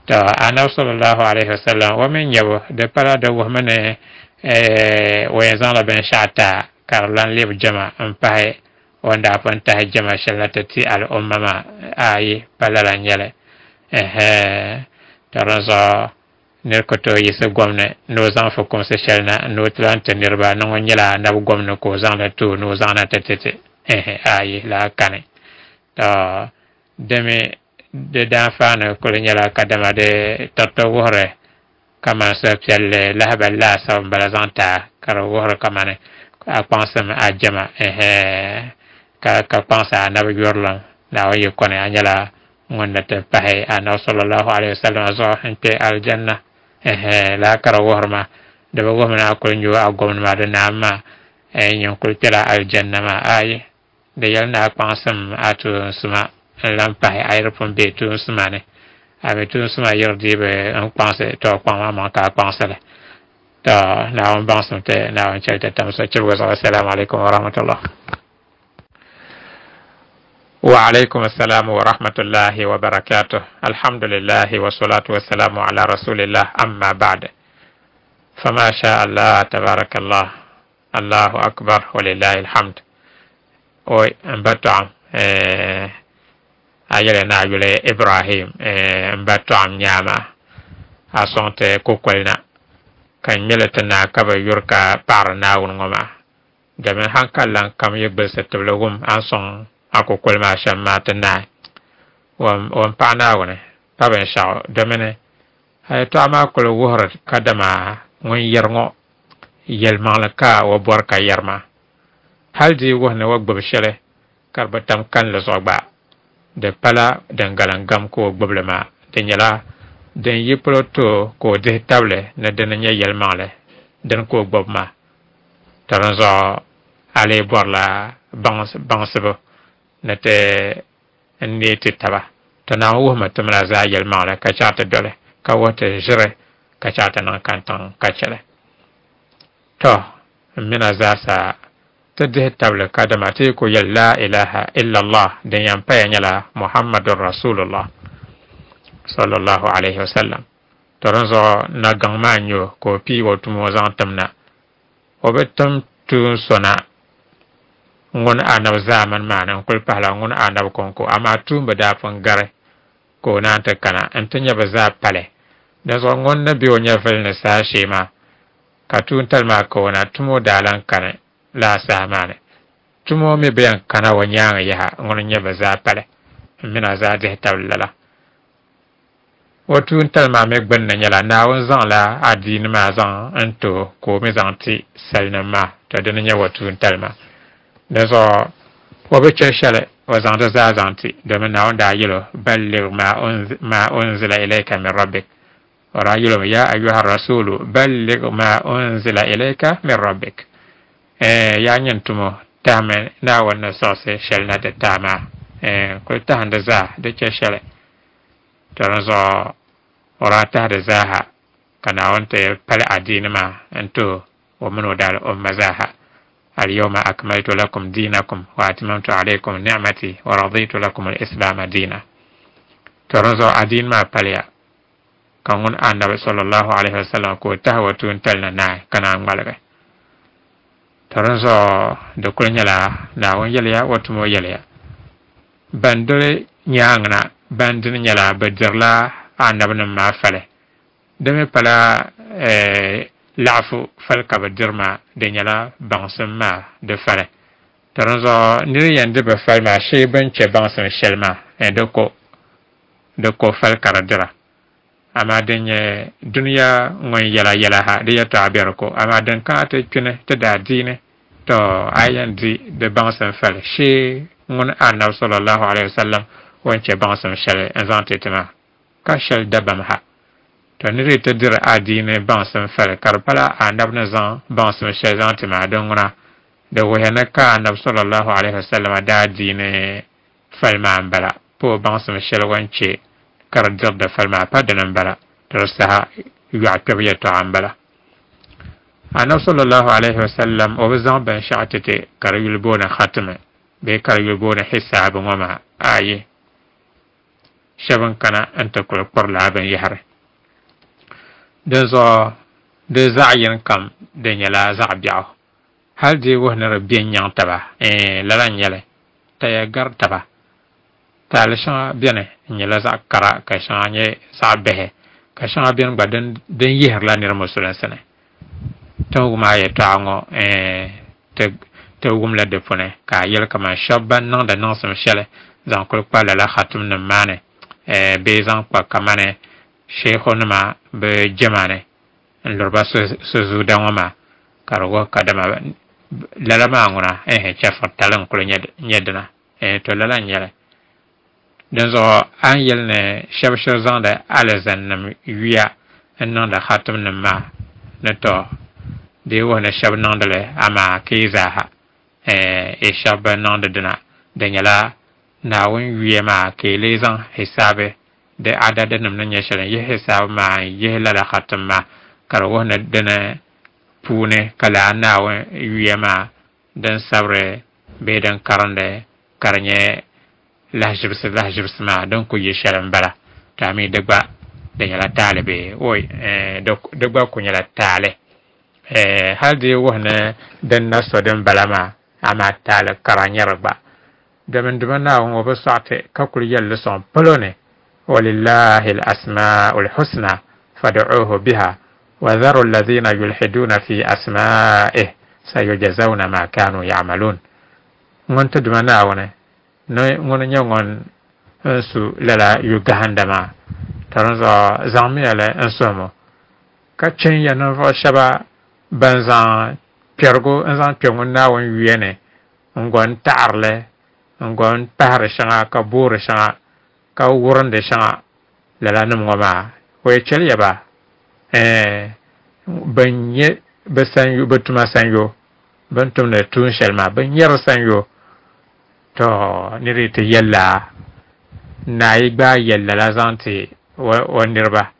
Speaker 1: to anabi sallallahu alaihi wasallam o mi nyabu di pala di wuhimi ni o yɛn zaŋla binshaɣu ti ka di lan lebi jama n pahi o ni daa pun tahi jama shɛli na ti ti al-umma maa ayi pa lala n nyɛli ehe to dinzuɣu niri ku tooi yiɣisi gom ni ni o zaŋ fukumsi shɛli na ni o ti lan ti niriba ni ŋun nyɛla anabi gom ni ka o zaŋli ti o ni o zaŋ na ti ti ti ehe ayi laa kani to dimi di daanfaani kuli nyɛla kadama di tiriti wuhiri kamani suhupiɛlli lahibali laasabu m-bala zaŋ ti a ka di wuhiri kamani a kpaŋsim a jama ehe ka ka kpaŋsi anabi yurilim Naawuni yi kɔni a nyɛla ŋun ni ti pahi anabi sallallahu alaihi wasallam zuɣu n kpe aljanna ehe laa ka di wuhiri ma di bi wuhimi ni a kuli nya o a gom ni maa di naam maa nyin kuli kpela aljanna maa ayi di yɛli ni a kpaŋsim a tuun suma n lan pahi a yi di pun be tuun suma ni a mi tuun suma yiri dii bi n kpaŋsi to kpaŋ maa maŋ ka a kpaŋsili to Naawuni baŋsim ti Naawuni chɛli ti tam so chibigu zuɣu assalamu alaikum wa rahmatullah. Wa alaikum assalam wa rahmatullahi wa barakatuh. Alhamdulillahi wa salatu wa salamu ala rasulillah amma ba'd. Fama sha Allah tabarakallah. Allahu akbar walillahi alhamd. Oi mba tɔɣim a yɛli ni a yuli Ibrahim mba tɔɣim nyaama a sɔŋ ti kukoli na ka n ŋmɛli ti naa ka bi yuri ka paɣiri Naawuni ŋɔ maa domin hankali lan kam yi gbilisi tibili wum a ni sɔŋ a kukoli maa shɛm maa ti naai o n paɣi Naawuni pa binshaɣu domini a yɛtɔɣa maa kuli wuhiri kadama ŋun yɛri ŋɔ yɛlimaŋli ka o bɔri ka yɛri maa hali di wuhi ni o gbubi shɛli ka di bi tam kanli zuɣu gba di pala din galiŋ gam ka o gbubili maa di nyɛla din yi polo to ka o dihi tabili ni dini nyɛ yɛlimaŋli dini ka o gbubi maa to din zuɣu a lee bɔrila baŋsibu ni ti n neei ti taba to Naawuni wuhimi ti mina zaa yɛlimaŋli ka chaɣ ti doli ka wuhi ti ʒiri ka chaɣ ti niŋ kantiŋ ka chɛli To n mina zaasa ti dihi tabili kadama ti yi ku yɛli la ilaha illallah din yɛn paya nyɛla Muhammadun Rasulullah sallallahu alaihi wasallam. To din zuɣu na gaŋ maa n-nyɛ o ka o pii o tumo zaŋ tim na. O bi tim tuun so na ŋun anabi zaamani maa ni n-kuli pahila ŋun anabi kɔŋko, amaa tuun bi daa pun gari ka o naan ti kana nti nyɛ bi zaa pali. Din zuɣu ŋun ni be o nyɛvili ni saha shee maa ka tuuntali maa ka o na tumo daa lan kani laa saha maa ni. Tumo mi bi yɛn kana o nyaaŋa yaha ŋun n-nyɛ bi zaa pali m mini a zaa dihi tabili lala. O tuuntali maa mi gbunni nyɛla Naawuni zaŋla adiini maa zaŋ n-ti o ka o mi zaŋ ti salinima maa, to dini n-nyɛ o tuuntali maa. Di zuɣu o bi chɛ shɛli o zaŋ di zaa zaŋ ti, domin Naawuni daa yɛl o, Balligh ma unzila ilayka min rabbik. O daa yɛl o mi, Ya ayyuha rasulu balligh ma unzila ilayka min rabbik. Eh, yaa nyin tumo, tahimi Naawuni ni siɣisi shɛli na ti ti a maa. Eh, kuli tahim di zaa, di chɛ shɛli. To di zuɣu o daa tahi di zaaha ka Naawuni ti pali adiini maa n-ti o, o mini o daal umma zaaha. Al-yawma akmaltu lakum dinakum wa atmamtu alaykum ni'mati wa raditu lakum al-islama dina. To di zuɣu adiini maa paliya ka ŋun anabi sallallahu alaihi wasallam ka o tahi o tuuntali na naai ka naan ŋmaligi. To di zuɣu di kuli nyɛla Naawuni yɛliya o tumo yɛliya. Ban doli nyaaŋa na ban dini nyɛla bɛ dirila anabinima maa fali. Di mi pala laɣifu fali ka bɛ diri maa, di nyɛla baŋsim maa di fali. To di zuɣu niri yɛn di bɛ fali maa shee bɛ ni chɛ baŋsim shɛli maa, di ko, di ko fali ka di dira. Amaa din nyɛ dunia ŋun yɛla yɛla ha di yɛtɔɣa be di ko, amaa din kana ti kpini ti daa diini, to a yɛn di di baŋsim fali shee ŋun anabi sallallahu alaihi wasallam o ni chɛ baŋsim shɛli n-zaŋ ti ti maa, ka shɛli dabam ha. To niri ti diri adiini baŋsim fali ka di pala anabi ni zaŋ baŋsim shɛli zaŋ ti maa din ŋuna, di wuhiya ni ka anabi sallallahu alaihi wasallam daa diini fali maa m-bala, pa o baŋsim shɛli o ni chɛ ka di diri di fali maa pa dini m-bala, to di saha yɔɣu kpɛbu yɛtɔɣa m-bala. Anabi sallallahu alaihi wasallam o bi zaŋ binshɛɣu ti ti ka di yuli booni khatimi bee ka di yuli booni hisaabi ŋɔ maa, ayi shɛba n-kana nti kuli kpuri laa binyɛhiri. Din zuɣu di zaɣ yini kam di nyɛla zaɣ biɛɣu, hali di wuhi ni di be n-nyaŋ taba, ɛɛn lala n-nyɛli, taya gari taba. Taali shɛŋa beni n-nyɛla zaɣ kara ka shɛŋa nyɛ zaɣ bihi, ka shɛŋa beni gba din, din yihirila nira musulinsi ni. Ti ni wum a yɛtɔɣa ŋɔ, ɛɛn ti, ti wumla di puuni ka a yɛli kaman shɛba ban niŋdi niŋsim shɛli zaŋ kuli kpa lala khatimnim maa ni, ɛɛn bee zaŋ kpa kamani sheekhunima bɛ jɛma ni n-luri ba suzuuda ŋɔ maa, ka di wuhi kadama lala maa ŋuna, ɛɛn chɛfuritali n-kuli nyɛ dina. Ɛɛn to lala n-nyɛli. Din zuɣu a ni yɛli ni shɛba shiri zaŋdi alizannim yuya n-niŋdi khatimnim maa ni to di wuhi ni shɛba niŋdi li, amaa ka yi zaaha, ɛɛn yi shɛba ban niŋdi dina, di nyɛla Naawuni yuya maa ka yi lee zaŋ hisaabi di adadinim ni nyɛ shɛli n-yihi hisaabi maa n-yihi lala khatim maa, ka di wuhi ni dini puuni ka lala Naawuni yuya maa din sabiri bee din karindi ka di nyɛ lahaʒibisi lahaʒibisi maa din ku yi shɛli m-bala. To a mi di gba di nyɛla taali bee? Oi, di gba ku nyɛla taali. Hali di wuhi ni din na so din bala maa, amaa taali kara nyɛ di gba. Domin Duuma Naawuni ŋɔ bi sɔɣi ti ka kuli yɛli li sɔŋ palo ni, Walillahi al-asma'ul husna fad'uuhu biha wa dharu alladhina yulhiduna fi asma'ihi sayujazawna ma kanu ya'malun. Ŋun ti Duuma Naawuni ni ŋuni nyɛ ŋun n su lala yu gahinda maa, to di zuɣu zaŋmiya li n-suhim o, ka chɛn ya ninvuɣ shɛba ban zaŋ kpɛrigu n-zaŋ kpe ŋun Naawuni yuya ni n-go n-taɣiri li, n-go n-pahiri shɛŋa ka boori shɛŋa ka wurindi shɛŋa lala nim ŋɔ maa. O yi chɛliya ba, ɛɛn bɛn nyɛ bɛ sanyo, bɛ tuma sanyo, bɛ ni tumdi tuun shɛli maa, bɛ nyɛri sanyo. To niri yi ti yɛlila naa yi gbaai yɛl lala zaŋ ti o niriba,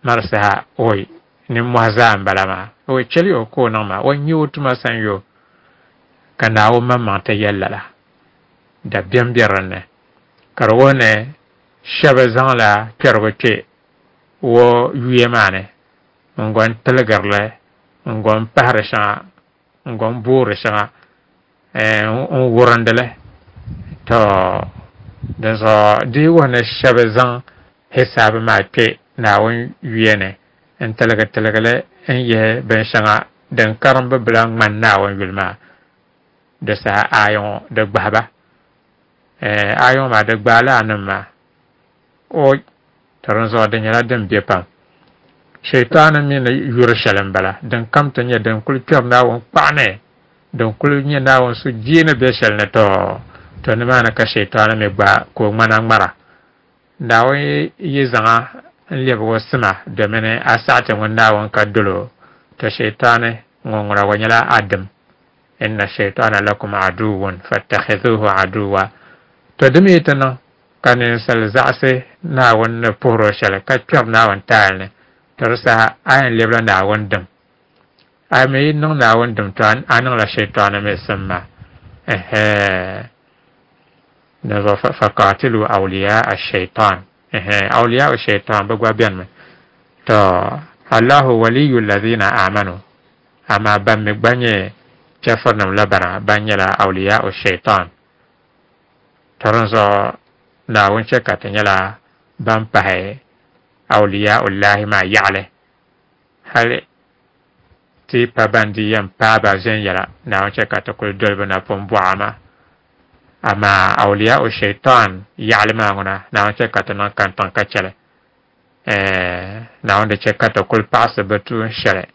Speaker 1: mari saha oi Nimmohi zaa n-bala maa. O chɛli o ka o niŋ maa, o nya o tuma sanyoo. Ka Naawuni maŋmaŋ ti yɛli lala. Dabiɛm be din ni. Ka di wuhi ni shɛba zaŋla kpɛrigu kpe o yuya maa ni n-go n-tiligiri li, n-go m-pahiri shɛŋa, n-go m-boori shɛŋa, n-wurindi li. To, dinzuɣu di yi wuhi ni shɛba zaŋ hisaabi maa kpe Naawuni yuya ni n-tiligi tiligi li n-yihi binshɛŋa din karimbu bi lahi ŋmani Naawuni yuli maa, di saha aaya ŋɔ di gbahi ba. Aaya ŋɔ maa di gbaai la a nim maa. O, to dinzuɣu di nyɛla din be pam. Shɛitaani mi ni yuri shɛli m-bala, din kam ti nyɛ din kuli kpɛri Naawuni kpaɣu ni, din kuli nyɛ Naawuni sujee ni be shɛli ni, to, to nimaani ka shɛitaani mi gba ka o ŋmana ŋmara. Naawuni yi zaŋ a n-lebigi o sima domini a saɣi ti ŋun Naawuni ka dol o, to shɛitaani ŋun ŋuna gba nyɛla a dim. Inna shɛitaana lakum aduwwun fattakhidhuhu aduwwa. To di mi yi ti niŋ ka ninsal zaɣisi Naawuni ni puhir o shɛli ka kpɛri Naawuni taali ni, to di saha a yɛn lebila Naawuni dim. A mi yi niŋ Naawuni dim, to a niŋla shɛitaani mi sim maa. Ɛhɛɛ. Dinzuɣu faqatilu awliyaa ash-shaytan. Ɛhɛɛ, awliyaa ash-shaytan bɛ gba benimi. To Allahu waliyu alladhina amanu. Amaa ban mi gba nyɛ chɛfurinim la bana, ban nyɛla awliyaa ash-shaytan. To dinzuɣu Naawuni chɛ ka ti nyɛla ban pahi awliyaullahi maa yaɣili, hali ti pa ban di yɛn paai ba viɛnyɛla, Naawuni chɛ ka ti kuli doli bɛ napɔŋ bɔɣa maa. Amaa awliyau shaitan yaɣili maa ŋuna, Naawuni chɛ ka ti niŋ kantiŋ ka chɛ li. Ɛɛh, Naawuni di chɛ ka ti kuli paɣisi bɛ tuun shɛli.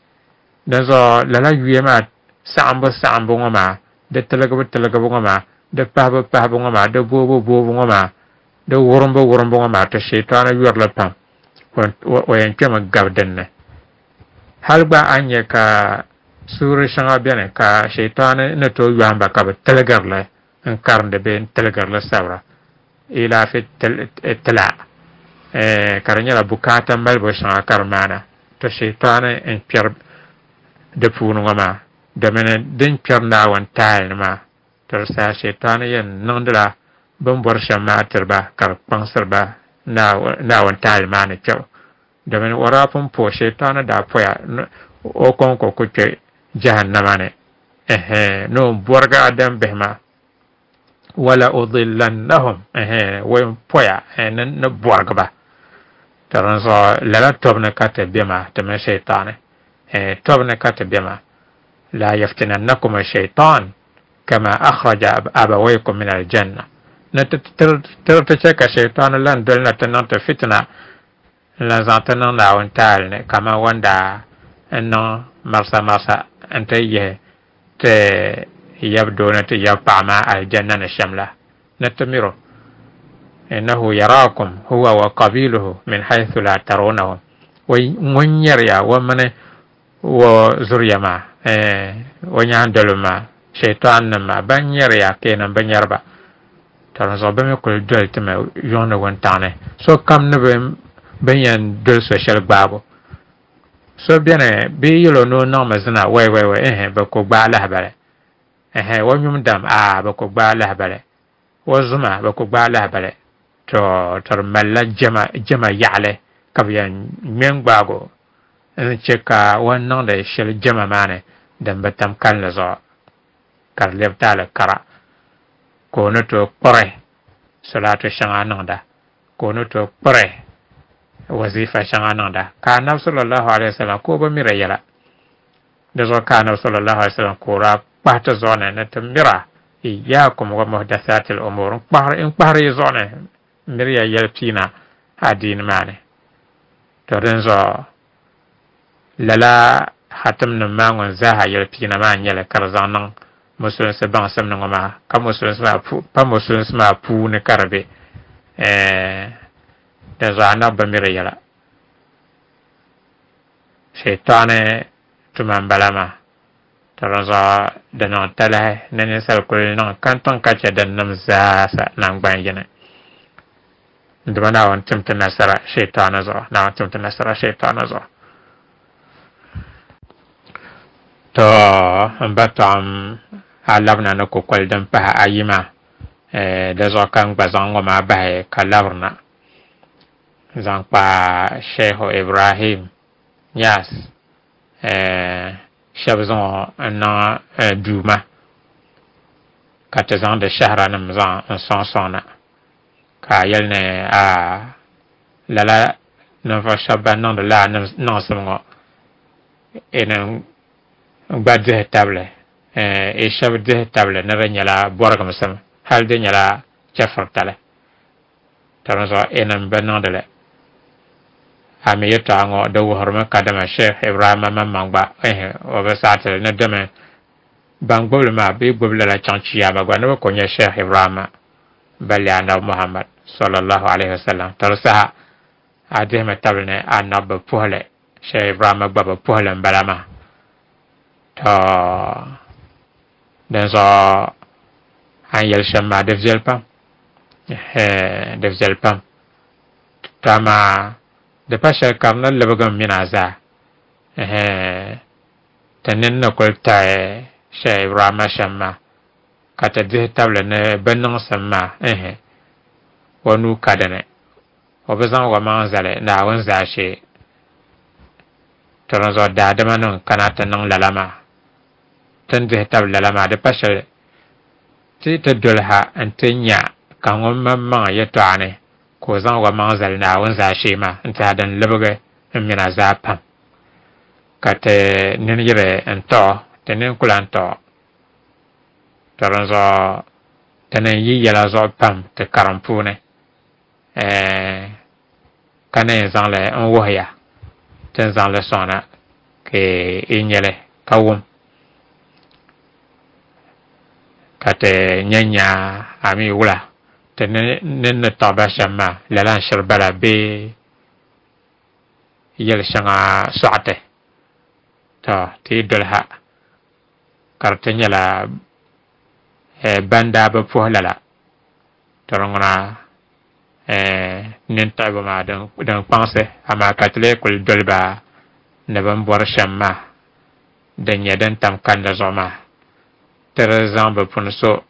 Speaker 1: Dinzuɣu lala yuya maa saɣimbu saɣimbu ŋɔ maa, di tiligibu tiligibu ŋɔ maa, di pahibu pahibu ŋɔ maa, di boobu boobu ŋɔ maa, di wurimbu wurimbu ŋɔ maa, to shɛitaani yurili pam, o yɛn kpɛmi gabi din ni. Hali gba a ni nya ka suuri shɛŋa beni ka shɛitaani ni tooi yɔhim ba ka bɛ tiligiri li n-karindi bee n-tiligiri li sabira, ilaafi tila, ka di nyɛla bukaata malibu shɛŋa ka di maana, to shɛitaani n-kpɛri di puuni ŋɔ maa, domini din kpɛri Naawuni taali ni maa, to di saha shɛitaani yɛn niŋdila bɛ ni bɔri shɛm maa tiri ba, ka di kpaŋsiri ba Naawuni taali maa ni kpɛbu. Domini o daa pun po, shɛitaani daa poya o kɔŋko ku kpe jahannama ni, ɛhɛɛ, ni o bɔrigi Adam bihi maa. Wala udillannahum, ɛhɛɛ, o yɛn poya ni ni bɔrigi ba. To dinzuɣu lala tɔbu ni ka ti be maa, ti mini shɛitaani, ɛɛ, tɔbu ni ka ti be maa. La yaftinannakum ash-shaytan kama akhraja abawaykum min al-janna. Ni ti tiri ti chɛ ka shɛitaani lan doli na ti niŋ ti fitina n-lan zaŋ ti niŋ Naawuni taali ni kaman o ni daa n-niŋ marisa marisa nti yihi ti yab doo ni ti yab paɣa maa aljanna ni shɛm la. Ni ti mir o, Innahu yaraakum huwa wa qabiluhu min haythu la tarawnahum. O ŋun nyari ya o mini o zuriya maa, ɛɛn, o nyaandoliba maa, shɛitaannim maa, ban nyari ya ka yinim bi nyari ba. To dinzuɣu bɛ mi kuli doli ti mi yuŋ ni wuntaŋ ni, sokam ni bɛ ni yɛn doli so shɛli gbaabu. So beni bɛ yi yɛl o ni o niŋmi zina, wai wai wai, ɛhɛn, bɛ ku gbaai lahibali. Ɛhɛn, o nyum dam, aa, bɛ ku gbaai lahibali. O zuma, bɛ ku gbaai lahibali. To, to di malila jɛma, jɛma yaɣili ka bɛ yɛn ŋme n-gbaag o n-chɛ ka o ni niŋdi shɛli jɛma maa ni din bi tam kalinli zuɣu, ka di lɛbi taali kara, ka o ni tooi kpuri solaatu shɛŋa niŋda, ka o ni tooi kpuri wazifa shɛŋa niŋda, ka Anabi sallallahu alaihi wasallam ka o bi miri yɛla. Di zuɣu ka Anabi sallallahu alaihi wasallam ka o daa kpahi ti zuɣu ni ni ti mira iyyakum wa muhdathatil umur, n kpahiri yi zuɣu ni miriya yɛli piina adiini maa ni. To dinzuɣu lala hatimnim maa ŋun zaaha yɛli piina maa n-nyɛli ka di zaŋ niŋ musulinsi baŋsim ni ŋɔ maa, ka musulinsi maa pu, pa musulinsi maa puuni ka di be. Ɛɛh, dinzuɣu Anabi bi miri yɛla. Shɛitaani tuma m-bala maa. To dinzuɣu di niŋ talahi ni ninsal kuli niŋ kantiŋ ka chɛ din nim zaasa naŋgban yini. Dama Naawuni tim ti nasara shɛitaani zuɣu. Naawuni tim ti nasara shɛitaani zuɣu. To n ba tɔɣim a labina ni kukoli din pahi ayi maa di zuɣu ka n gba zaŋ ŋɔ maa bahi ka labirina zaŋ kpa Sheikh Ibrahim Nyaas shɛba zaŋ o n niŋ duuma ka ti zaŋdi shɛhiranim zaŋ n sɔŋ sɔŋ na ka a yɛli ni a lala ninvuɣu shɛba ban niŋdi lala niŋsim ŋɔ inin gba dihi tabili i shɛba dihi tabili ni di nyɛla bɔrigimsim hali di nyɛla chɛfuritali to di zuɣu inin bi niŋdili a mi yɛltɔɣa ŋɔ di wuhirimi kadama Sheikh Ibrahim maŋmaŋ gba o bi saɣatili ni domi ban gbubili maa bɛ gbubi lala chaŋ chiyaama gba ni bi ku nyɛ Sheikh Ibrahim balli anabi Muhammad sallallahu alaihi wasallam to di saha a dihimi tabili ni anabi bi puhili Sheikh Ibrahim gba bi puhili n bala maa to din zuɣu an yɛli shɛm maa di viɛli pam di viɛli pam to amaa di pa shɛli ka di ni libigi m mini a zaa ti nini ni kuli tahi Sheikh Ibrahim shɛm maa ka ti dihi tabili ni bi niŋsim maa o nuu ka dini o bi zaŋ o maŋ zali Naawuni zaashee to di zuɣu daadama nim kana ti niŋ lala maa tin dihi tabili lala maa di pa shɛli ti ti doli ha n ti nya ka ŋun maŋmaŋ yɛltɔɣa ni ka o zaŋ o maŋ zali Naawuni zaashee maa n tiɛha din libigi n mina zaa pam ka ti nini yiri n tɔɣo ti nini ku lan tɔɣo to di zuɣu ti ni yi yɛla zuɣu pam ti karim puuni ka na yɛn zaŋli n wuhiya ti ni zaŋli sɔŋna ka i nyɛli ka wum ka ti nya nya a mi wula ti nini ni tɔɣi ba shɛm maa lala n shiri bala bee yɛli shɛŋa sɔɣiti to ti yi doli ha ka di ti nyɛla ban daa bi puhi lala to di ŋuna nini taɣibu maa din kpaŋsi amaa ka ti lee kuli doli ba ni bin bɔri shɛm maa din nyɛ din tam kanna zuɣu maa ti di zaŋ bi puni so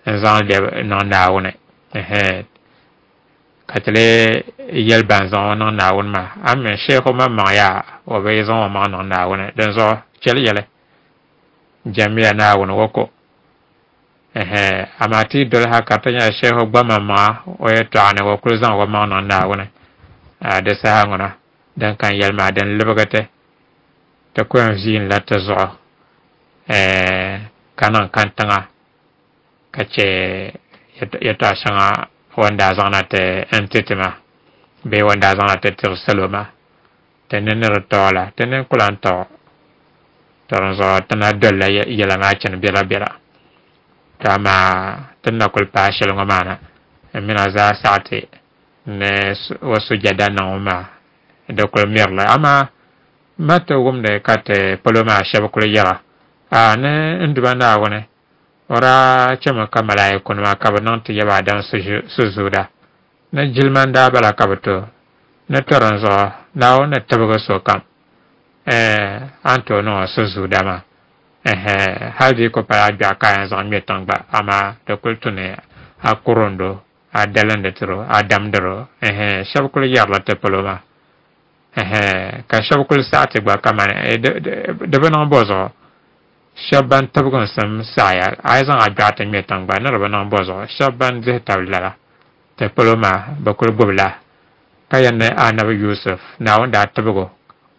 Speaker 1: n zaŋ lɛbi niŋ Naawuni ka ti lee yɛli ban zaŋ o niŋ Naawuni maa a mi Sheikh maŋmaŋ yaa o bi zaŋ o maŋ niŋ Naawuni din zuɣu chɛli yɛli jɛmmiya Naawuni o ko amaa ti doli ha ka ti nyɛla Sheikh gba maŋmaŋa o yɛltɔɣa ni o kuli zaŋ o maŋ niŋ Naawuni di saha ŋuna din kan yɛli maa din libigi ti ti ku yɛn viinla ti zuɣu ka niŋ kantiŋa ka chɛ yɛltɔɣa shɛŋa o ni daa zaŋna ti n ti ti maa bee o ni daa zaŋna ti tiri salo maa ti nini ni di tɔɣo la ti nini ku lan tɔɣo to di zuɣu ti na dolila yɛla maa chani biɛla biɛla to amaa ti ni na kuli paai shɛli ŋɔ maa na n mina zaa saɣati ni o sujada niŋbu maa di kuli mirili amaa ma ti wumdi ka ti palo maa shɛba kuli yɛra a ni n duba Naawuni o daa chɛmi ka malaikunima ka bi niŋ ti yaba Adam suzuuda ni jilima n daa bala ka bi to ni to din zuɣu Naawuni ni tibigi sokam a ni tooi niŋ o suzuuda maa hali di ku pala a gbiɛɣu ka a yɛn zaŋ ŋmɛ tiŋ gba amaa di kuli tu ni a kurundo a dalindi tiro a damdiro shɛba kuli yɛrila ti palo maa ka shɛba kuli saɣati gba kamani di bi niŋ bɔ zuɣu shɛba ban tibigimsim saɣaya a yi zaŋ a gbiɛɣu ti ŋmɛ tiŋ gba ni di bi niŋ bɔ zuɣu shɛba ban dihi tabili lala ti palo maa bi kuli gbubila ka yɛn ni anabi Yusuf Naawuni daa tibigi o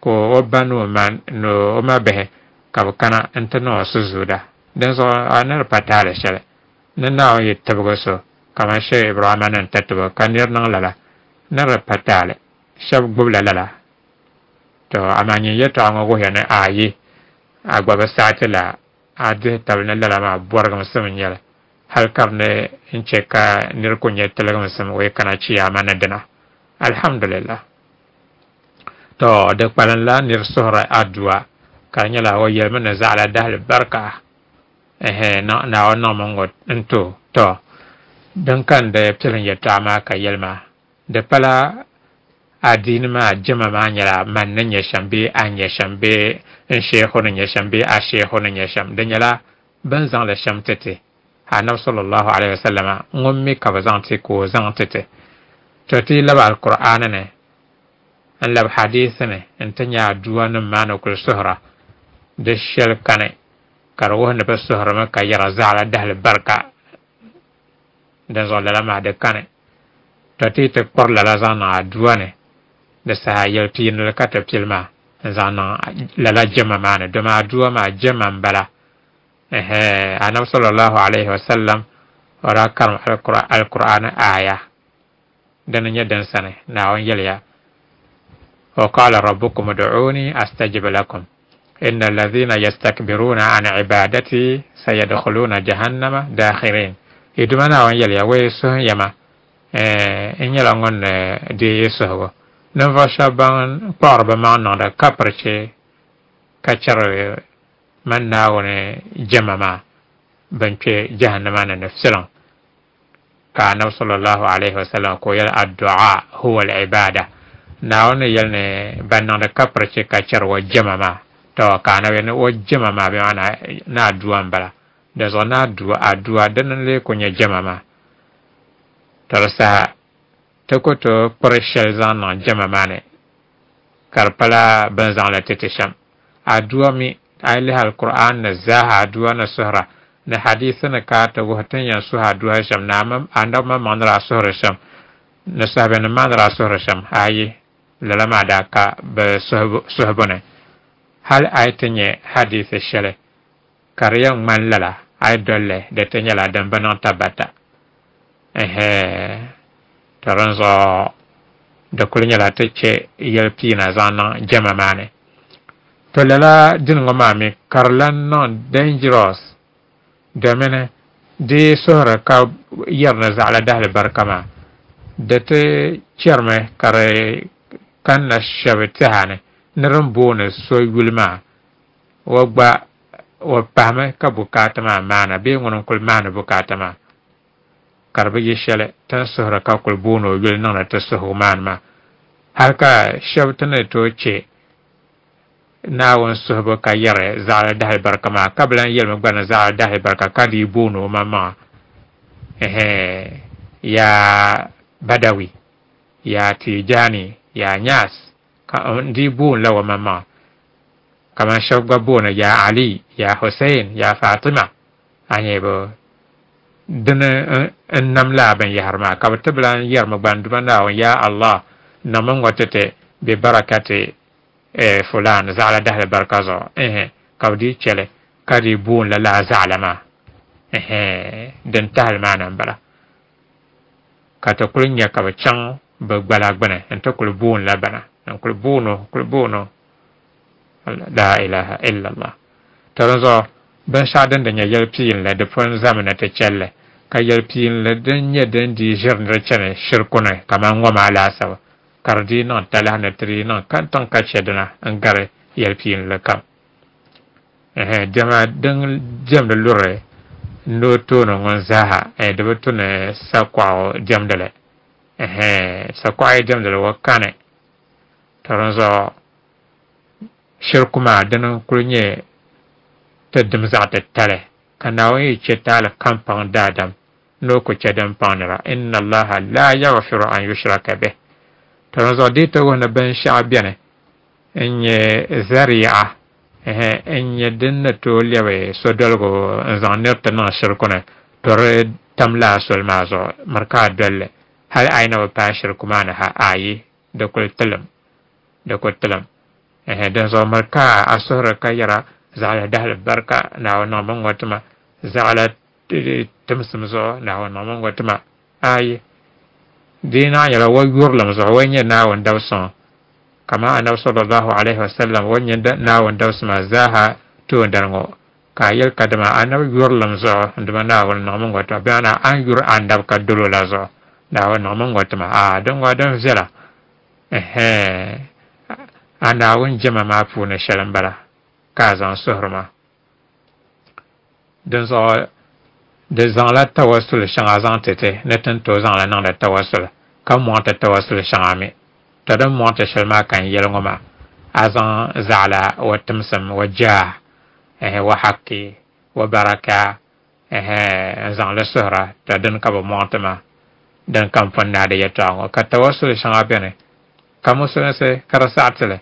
Speaker 1: ka o ba ni o ma bihi ka bi kana n ti niŋ o suzuuda din zuɣu a ni di pa taali shɛli ni Naawuni yi tibigi so kamani Sheikh Ibrahim ni n ti tibi ka niri niŋ lala ni di pa taali shɛba gbubila lala to amaa nyin yɛltɔɣa ŋɔ wuhiya ni ayi a gba bi saɣati la a dihi tabili ni lala maa bɔrigimsim n nyɛli hali ka di ni n chɛ ka niri ku nyɛ tiligimsim o yi kana chiyaama ni dina alhamdulillah to di kpalinla niri suhuri adua ka di nyɛla o yɛlimi ni zaɣala dahali barika Naawuni niŋmi ŋɔ n to to din kan di pilin yɛltɔɣa maa ka yɛli maa di pala adiini maa jama maa nyɛla man ni nyɛ shɛm bee a nyɛ shɛm bee n sheehu ni nyɛ shɛm bee a sheehu ni nyɛ shɛm. Di nyɛla bɛn zaŋ li shɛm ti ti. Anabi sallallahu alaihi wasallam ŋun mi ka bɛ zaŋ ti ka o zaŋ ti ti. To ti labi alkur'aani ni n labi hadisi ni n ti nyɛ aduwa nim maa ni kuli suhura di shɛli kani ka di wuhi ni bi suhurimi ka yɛra zaɣala dahali barika. Dinzuɣu lala maa di kani. To ti ti kpuri lala zaŋ niŋ aduwa ni di saha yɛli piinili ka ti pili maa n zaŋ niŋ lala jama maa ni domi aduwa maa jama n bala. Ehe anabi sallallahu alaihi wasallam o daa karim alkur'ani aya dini nyɛ din sani Naawuni yɛliya wa qala rabbukum ud'uni astajib lakum inna alladhina yastakbiruna an ibadati sayadkhuluna jahannama dakhirin. Iduma Naawuni yɛliya wei suhi yama n nyɛla ŋun deei suhigu ninvuɣu shɛba ban kpuɣiri bɛ maŋ niŋdi kapirichi ka chɛri man Naawuni jama maa ban kpe jahannama ni ni filiŋ. Ka anabi sallallahu alaihi wasallam ka o yɛli addu'a huwa al-ibada. Naawuni yɛli ni ban niŋdi kapirichi ka chɛri o jama maa. To ka anabi ni o jama maa bɛ maana ni aduwa n bala. Di zuɣu ni aduwa aduwa dini n lee ku nyɛ jama maa. To di saha ti ku tooi kpuri shɛli zaŋ niŋ jama maa ni ka di pala bin zaŋli ti ti shɛm. Aduwa mi a yi lihi alkur'an ni zaaha aduwa ni suhura ni hadisi ni ka ti wuhi tin yɛn suhi aduwa shɛm ni anabi maŋmaŋ ni daa suhuri shɛm ni sahabinim maa ni daa suhuri shɛm ayi lala maa daa ka bi suhibu ni. Hali a yi ti nyɛ hadisi shɛli ka di yɛn ŋmani lala a yi dolli di ti nyɛla din bi niŋ tabbata. Ehe to dinzuɣu di kuli nyɛla ti chɛ yɛli piina zaŋ niŋ jama maa ni. To lala dini ŋɔ maa mi ka di lan niŋ dangerous domini di suhuri ka yɛri ni zaɣala dahali barika maa di ti chɛrimi ka di kanna shɛba tɛha ni ni din booni so yuli maa o gba o pahimi ka bukaata maa maana bee ŋuni n kuli maani bukaata maa ka di bi yi shɛli tin suhuri ka kuli booni o yuli niŋdi ti suhigu maani maa. Hali ka shɛba ti ni tooi chɛ Naawuni suhibu ka yɛri zaɣala dahali barika maa ka bi lan yɛlimi gba ni zaɣala dahali barika ka di booni o maŋmaŋa. Ehe ya Badawi ya Tijani ya Nyas ka n di booni la o maŋmaŋa. Kaman shɛba gba booni ya Ali ya Hussein ya Fatima a nyɛ bi dini n nam laa binyahari maa ka bi ti bi lan yɛrimi gba n duma Naawuni ya Allah niŋmi ŋɔ ti ti bi barakati fulan zaɣala dahali barika zuɣu. Ehe ka bi dii chɛli ka di booni la laa zaɣala maa. Ehe din tahali maa na n bala ka ti kuli nyɛ ka bi chaŋ bi gbala gbuni n ti kuli booni la bana n kuli boono kuli boono la ilaha illallah. To dinzuɣu binshɛɣu din di nyɛ yɛli piinli di pun zami ni ti chɛlli ka yɛli piinli din nyɛ din dii ʒiri ni di chani shiriku ni kamani ŋɔ maa laasabu ka di dii niŋ talahi ni ti dii niŋ kantiŋ ka chɛ dina n gari yɛli piinli kam. Ehe diɛma din diɛmdi luri noo tooni ŋun zaaha di bi tu ni sakuɣu diɛmdili. Ehe sakuɣu yi diɛmdili o kani. To dinzuɣu shiriku maa dini n kuli nyɛ ti dim zaɣ titali ka Naawuni yi chɛ taali kam paŋ daadam ni o ku chɛ din paŋ nira. Inna Allaha la yaghfiru an yushraka bih. To dinzuɣu di ti wuhi ni binshɛɣu bɛni n nyɛ zari'a ehe n nyɛ din ni tooi lɛbi sodoligu n zaŋ niri ti niŋ shiriku ni to di tam laa soli maa zuɣu miri ka a dolli hali a yi na bi paai shiriku maa ni ha ayi di kuli tilim di kuli tilim. Ehe dinzuɣu miri ka a suhuri ka yɛra zaɣala dahali barika Naawuni niŋmi ŋɔ tima zaɣala timsim zuɣu Naawuni niŋmi ŋɔ tima ayi di naa nyɛla o yurilim zuɣu o nyɛ Naawuni dabisuŋ kama anabi sallallahu alaihi wasallam o nyɛ Naawuni dabisima zaaha toondani ŋɔ ka a yɛli kadama anabi yurilim zuɣu n dima Naawuni niŋmi ŋɔ tima bɛ maana a ni yuri anabi ka dolo la zuɣu Naawuni niŋmi ŋɔ tima a din ŋɔ din viɛla. Ehe a Naawuni jama maa puuni shɛli n bala ka a zaŋ suhuri maa. Dinzuɣu di zaŋla tawassul shɛŋa zaŋ ti ti ni ti ni tooi zaŋli niŋdi tawassul ka mɔŋ ti tawassul shɛŋa mi. To din mɔŋ ti shɛli maa ka n yɛli ŋɔ maa, a zaŋ zaɣila o timsim, o jaa, ɛhɛ, o haki, o baraka, ɛhɛ, n zaŋ li suhira. To din ka bi mɔŋ ti maa, din ka n pun naai di yɛtɔɣa ŋɔ. Ka tawassuli shɛŋa beni ka musulinsi ka di saɣi ti li.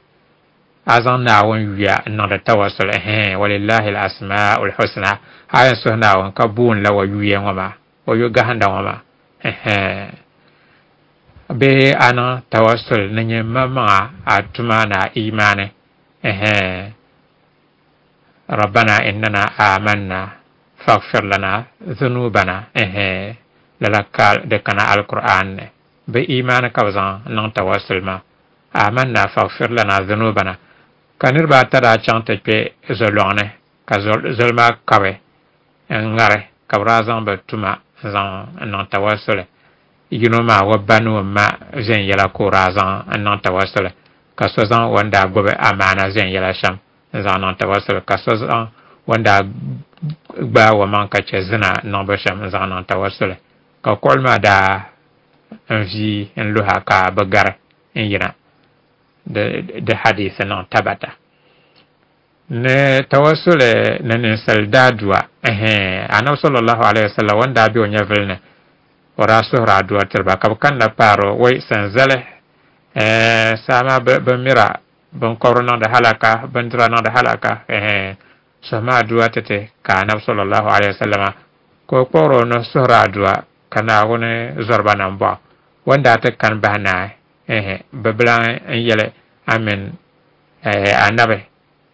Speaker 1: A zaŋ Naawuni yuya n niŋdi tawassuli, ɛhɛ, walillahi al-asma'ul husna, a yɛn suhi Naawuni ka booni la o yuya ŋɔ maa, o yu gahinda ŋɔ maa, ɛhɛ, bee a niŋ tawassul ni nyɛ maŋmaŋa a tuma ni a imaani, ɛhɛ, rabbana innana amanna faghfir lana dhunubana, ɛhɛ, lala ka di kana al-Qur'an ni. Bi imaani ka bi zaŋ niŋ tawassul maa, amanna faghfir lana dhunubana. Ka niriba ata daa chaŋ ti kpe zolɔŋ ni, ka zoli maa kabi n-ŋari, ka bɛ daa zaŋ bɛ tuma n-zaŋ niŋ tawassuli. Yino maa o ba ni o ma viɛnyɛla ka o daa zaŋ n-niŋ tawassuli, ka so zaŋ o ni daa gbubi amaana viɛnyɛla shɛm n-zaŋ niŋ tawassuli, ka so zaŋ o ni daa gbaai o maŋ ka chɛ zina niŋbu shɛm n-zaŋ niŋ tawassuli. Ka kuɣili maa daa n-vii n-luha ka bɛ gari n-yina. Di hadisi niŋ tabata ni tawassuli ni ninsal daadua. Ɛhɛ, Anabi sallallahu alaihi wasallam o ni daa be o nyɛvili ni, o daa suhiri adua tiriba, ka bɛ kanna paari o, wai sanzali, ɛɛ, saa maa bi mira, binkɔbiri niŋdi halaka, bindira niŋdi halaka, ɛhɛ, suhimi adua titi. Ka Anabi sallallahu alaihi wasallam ka o kpuɣiri o nuhi suhiri adua, ka Naawuni zɔriba nambɔɣu. O ni daa ti kani bahi naai, ɛhɛ, bɛ bi lan n yɛli amin, ɛɛ, Anabi,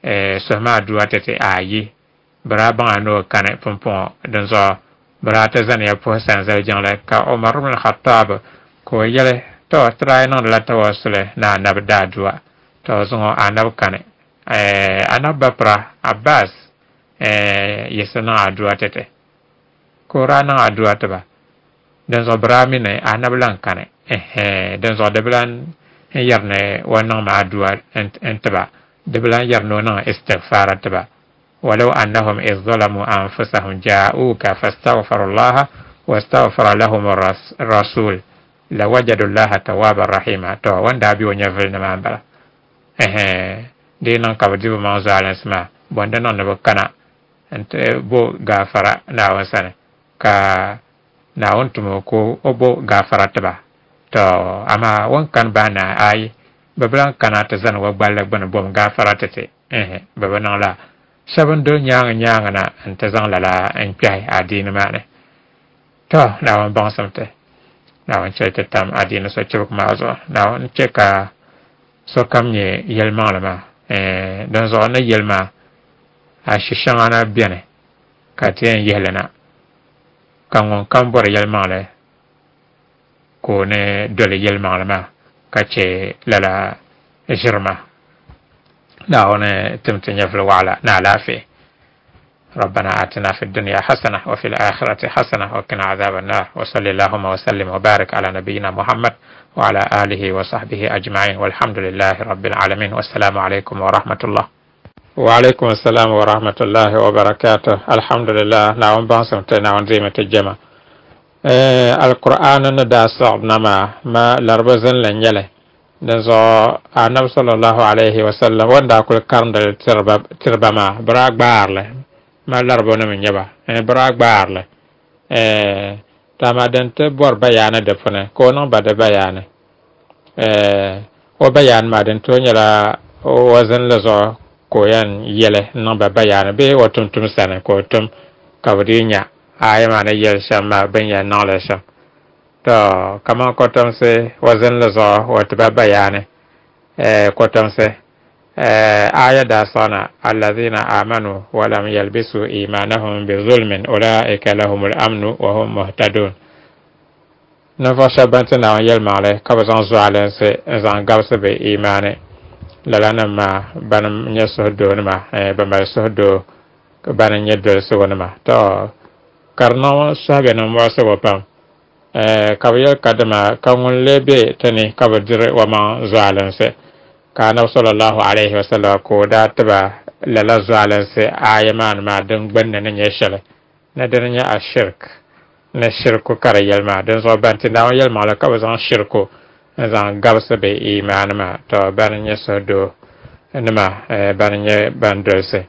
Speaker 1: ɛɛ, suhimi adua titi ayi. Bɛ daa baŋya ni o kani pumpɔŋɔ, dinzuɣu bɛ daa ti zaniya puhi sanzali jiŋli. Ka Umar ibn Khattab ka o yɛli, to ti daa yi niŋdila tawassuli ni Anabi daadua, to zuŋɔ Anabi kani, ɛɛ, Anabi bapira Abbas, ɛɛ, yiɣisi niŋ adua titi. Ka o daa niŋ adua tiba, dinzuɣu bɛ daa mi ni Anabi lan kani, ɛhɛ, dinzuɣu di bi lan n yɛri ni o niŋmi adua n tiba, di bi lan yɛri ni o niŋ istighfara tiba. Walau annahum idh zalamu anfusahum ja'uka fastaghfaru llaha wastaghfara lahum ar-rasul lawajadu llaha tawwaban rahima. To o ni daa be o nyɛvili ni maa m-bala. Ɛhɛ, di yi niŋ ka bɛ di bɛ maŋ zualinsi maa, bɔ n-di niŋ ni bɛ kana nti bo gaafara Naawuni sani, ka Naawuni tum o ka o bo gaafara tiba. To amaa o ni kani bahi naai, ayi, bɛ bi lan kana ti zani o gballi gbuni bom gaafara ti ti. Ɛhɛ, bɛ bi niŋ la. Shɛba n-doli nyaaŋa nyaaŋa na nti zaŋ lala n-kpɛhi adiini maa ni. To Naawuni baŋsim ti, Naawuni chɛ ti tam adiini sochibigi maa zuɣu. Naawuni chɛ ka sokam nyɛ yɛlimaŋli maa. Ɛɛ, dinzuɣu ni yɛli maa, ashi shɛŋa na beni ka ti yɛn yihi li na, ka ŋun kam bɔri yɛlimaŋli ka o ni doli yɛlimaŋli maa ka chɛ lala ʒiri maa. Naawuni tim ti nyɛvili waɣila ni alaafee. ربنا آتنا في الدنيا حسنة وفي الآخرة حسنة وقنا عذاب النار، وصلى اللهم وسلم وبارك على نبينا محمد وعلى آله وصحبه أجمعين، والحمد لله رب العالمين، والسلام عليكم ورحمة الله. وعليكم السلام ورحمة الله وبركاته. الحمد لله. نعم بانسم نعم ديمة الجمع. القرآن ندى صعب نما ما لربزن لنجله dinzuɣu Anabi sallallahu alaihi wasallam wanda kuli karindili tiriba maa bɛ daa gbaarili ma laribu nim n nyɛba, bɛ daa gbaarili, to amaa din ti bɔri bayaani di puuni ka o niŋ ba di bayaani. O bayaani maa din tooi nyɛla o zinli zuɣu ka o yɛn yɛli n niŋ ba bayaani, bee o tumtum sani ka o tum ka bɛ dii nya aya maa ni yɛli shɛm maa bɛ ni yɛn niŋli shɛm. To kaman kotomsi o zinli zuɣu o tiba bayaani, kotomsi aya daa sɔna alladhina amanu walam yalbisu imanahum bizulmin ulaika lahumul amnu wa hum muhtadun. Ninvuɣu shɛba ban ti Naawuni yɛlimaŋli ka bɛ zaŋ zualinsi n-zaŋ gabisi bɛ imaani, lala nim maa bani n-nyɛ suhudoonima, bɛ mali suhudoo, bani n-nyɛ dolisigunima. To ka di niŋ suhibe ni muɣisigu pam, ka bɛ yɛli kadama ka ŋun lee be ti ni ka bɛ diri o maŋ zualinsi. Ka Anabi sallallahu alaihi wasallam ka o daa tiba lala zualinsi aya maa ni maa din gbunni ni nyɛ shɛli ni dini nyɛ ashirk ni shirku ka di yɛli maa. Dinzuɣu ban ti Naawuni yɛlimaŋli ka bɛ zaŋ shirku n zaŋ gabisi bɛ imaani maa. To bani n-nyɛ suhudoo nima, bani n-nyɛ ban dolisi.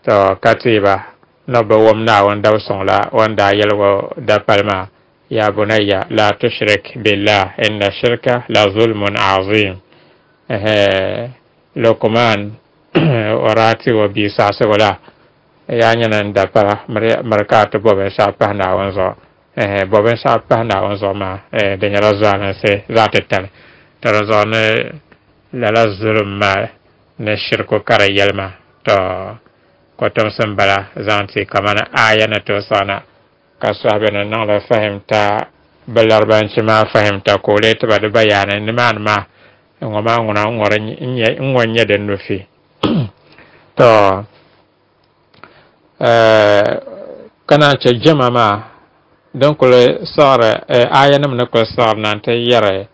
Speaker 1: To ka tiiba ni bɛ wum Naawuni dabisuŋ la o ni daa yɛli o dapali maa, Ya bunayya la tushrik billah inna shirka la zulmun azim. Ɛhɛ Luqman o daa ti o bia saɣisigu la, yaa nyini n dapala, miri ka a ti bo binshɛɣu pahi Naawuni zuɣu. Ɛhɛ bo binshɛɣu pahi Naawuni zuɣu maa, di nyɛla zualinsi zaɣ titali. To di zuɣu ni lala zulum maa ni shirku ka di yɛli ma. To kotomsi m-bala zaŋ ti kamani aaya ni tooi siɣina ka sɔhibi ni niŋli fahimta bɛ laribanchi maa fahimta ka o lee ti ba di bayaani nimaani maa ŋɔ maa ŋuna n-ŋɔ n-nyɛ din nufi. To ka naan chɛ jɛma maa din kuli siɣiri aayanima ni kuli siɣiri na nti yɛri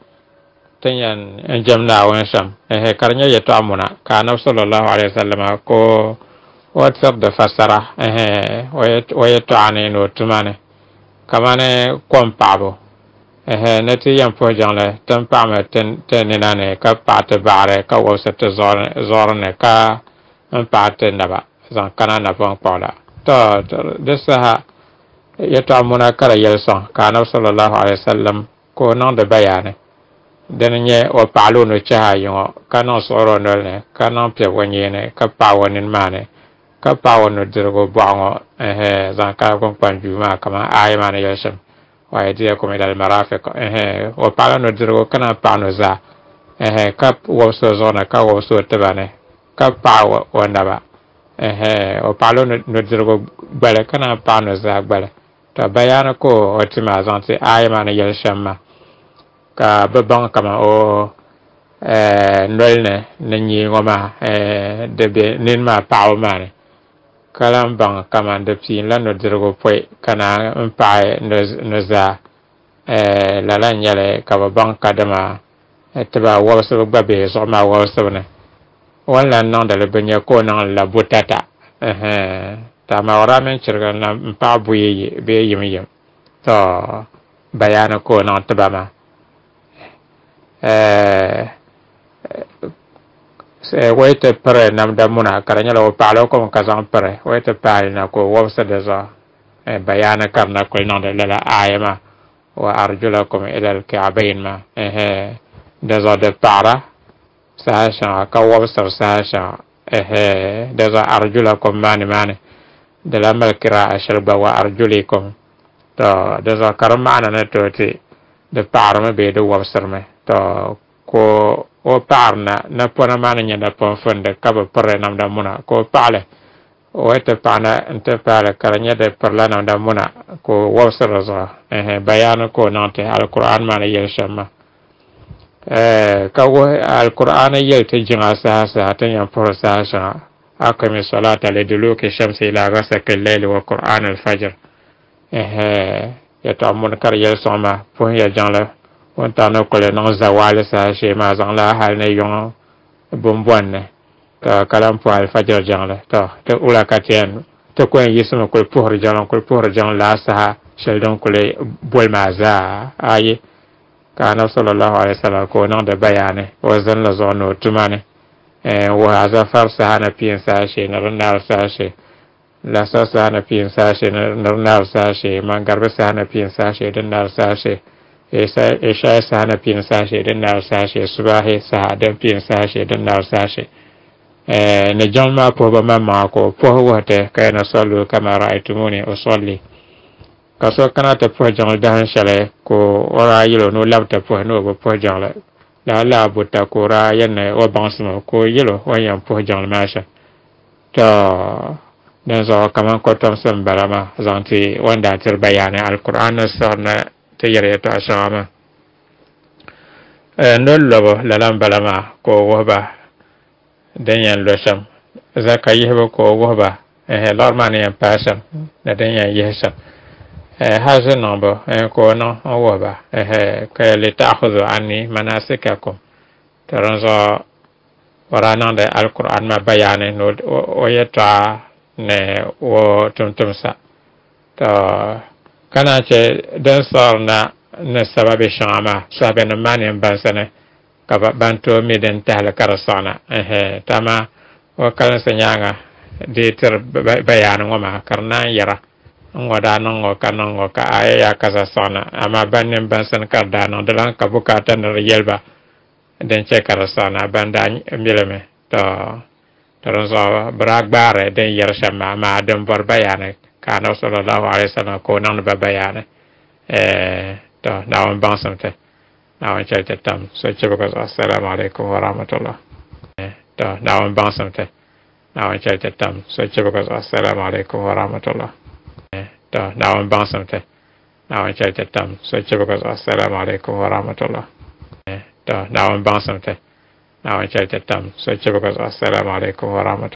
Speaker 1: ti yɛn jɛm Naawuni shɛm, ka di nyɛ yɛtɔɣa muna ka Anabi sallallahu alaihi wasallam ka o tiri di fasara o yɛtɔɣa ni ni o tuma ni, kamani kom paɣabu, ni ti yɛn puhi jiŋli ti ni paɣami ti nina ni ka paɣi ti baɣiri ka wobisi ti zuɣuri ni ka n paɣi ti naba zaŋ kana napɔŋ kpuɣila. To di saha yɛtɔɣa muna ka di yɛli sɔŋ ka Anabi sallallahu alaihi wasallam ka o niŋdi bayaani. Dini nyɛ o paɣila o nuchɛhi ayi ŋɔ ka niŋ suɣuri o noli ni ka niŋ piɛbu o nyee ni ka paɣi o nini maa ni ka paɣi o nudirigu bɔɣu ŋɔ zaŋ kana kpunkpan duu maa kamani aaya maa ni yɛli shɛm, wa aydiyakum ila almarafiq. O paɣila nudirigu ka naan paɣi nuzaa, ka wobisi o zuɣu ni ka wobisi o tiba ni ka paɣi o naba. O paɣila nudirigu gbali ka naan paɣi nuzaa gbali. To bayaani ka o ti maa zaŋ ti aaya maa ni yɛli shɛm maa ka bɛ baŋ kaman o noli ni ni nyee ŋɔ maa di be nini maa paɣabu maa ni, ka lan baŋ kaman di piinila nudirigu pɔi ka naan paɣi nuzaa. Lala n-nyɛli ka bɛ baŋ kadama tiba wobisibu gba be zuɣu maa wobisibu ni. O ni lan niŋdi li bɛ nya ka o niŋ li la butata, to amaa o daa mini chiriga n paɣi buyi yi bee yimyim. To bayaani ka o niŋ tiba maa. O yi ti piri namda muna ka di nyɛla o paɣila o kom ka zaŋ piri, o yi ti paai na ka o wobisi di zuɣu. Bayaani ka di na kuli niŋdi lala aaya maa, wa arjulakum ila alka'bayn maa. Di zuɣu di paɣira saha shɛŋa ka wobisiri saha shɛŋa. Di zuɣu arjulakum maa nimaani di lahi mali kiraa shɛli gba, wa arjulikum. To di zuɣu ka di maana ni tooi ti di paɣirimi bee di wobisirimi. To ka o paɣiri na napɔna maa ni nyɛ napɔn fundi ka bi piri namda muna ka o paɣili, o yi ti paɣi na nti paali ka di nyɛ di pirila namda muna ka o wobisiri zuɣu. Bayaani ka o niŋ ti Alkur'an maa ni yɛli shɛm maa. Ka wuhi Alkur'an yɛli ti jiŋa saha saha ti yɛn puhiri saha shɛŋa, aqimi salata liduluki shamsi ila ghasaqi layli wa qur'an alfajr. Yɛtɔɣa muni ka di yɛli sɔŋ maa, puhiya jiŋli wuntaŋ ni kuli niŋ zawali saha shee maa zaŋla hali ni yuŋ bumbɔn ni ka ka lan puhi alfajir jiŋli. To ti wula ka ti yɛn ti ku yɛn yiɣisimi kuli puhiri jiŋli kuli puhiri jiŋli laa saha shɛli din kuli boli maa zaa ayi. Ka Anabi sallallahu alaihi wasallam ka o niŋdi bayaani o zinli zuɣu ni o tuma ni, wuhi azafar saha ni piin saha shee ni di naari saha shee, lasar saha ni piin saha shee ni di naari saha shee, mangaribi saha ni piin saha shee din naari saha shee, ishai saha ni piin saha shee din naari saha shee, subahi saha din piin saha shee din naari saha shee. Ni jiŋli maa puhibu maŋmaŋa ka o puhi wuhi ti ka yɛn sallu kama ra'aytumuni usalli. Ka so kana ti puhi jiŋli dahin shɛli ka o daa yɛli o ni o labi ti puhi ni o bi puhi jiŋli lala laa buta ka o daa yɛn ni o baŋsim o ka o yɛli o o ni yɛn puhi jiŋli maa shɛm. To din zuɣu kaman kotomsi m-bala maa zaŋ ti o ni daa tiri bayaani Alkur'an ni siɣiri ni ti yɛri yɛtɔɣa shɛŋa maa. Noli lobu lala m-bala maa ka o wuhi ba din yɛn lo shɛm, zaka yihibu ka o wuhi ba liɣiri maa ni yɛn paai shɛm ni din yɛn yihi shɛm, hazi niŋbu ka o niŋ n wuhi ba ka yɛli lita'khudhu anni manasikakum. To din zuɣu o daa niŋdi Alkur'an maa bayaani ni o yɛtɔɣa ni o tumtumsa. To ka naan chɛ din siɣiri na ni sababi shɛŋa maa sɔhibinim maa nini bansi ni ka ban tooi mi din tahili ka di siɣina to amaa o kalinsi nyaaŋa di tiri bayaani ŋɔ maa ka di naan yɛra n ŋɔ daa niŋ ŋɔ ka niŋ ŋɔ ka aya yaa kaza siɣina amaa ban nini bansi ni ka di daa niŋ di lan ka bukaata ni di yɛli ba din chɛ ka di siɣina ban daa milimi to to dinzuɣu bɛ daa gbaari din yɛri shɛm maa amaa din bɔri bayaani ka anabi sallallahu alaihi wasallam ka o niŋdi ba bayaani to Naawuni baŋsim ti Naawuni chɛli ti tam so chibiga zuɣu. Assalamu alaikum wa rahmatullah. To Naawuni baŋsim ti Naawuni chɛli ti tam so chibiga zuɣu. Assalamu alaikum wa rahmatullah. To Naawuni baŋsim ti Naawuni chɛli ti tam so chibiga zuɣu. Assalamu alaikum wa rahmatullah. To Naawuni baŋsim ti Naawuni chɛli ti tam so chibiga zuɣu. Assalamu alaikum wa rahmatullah.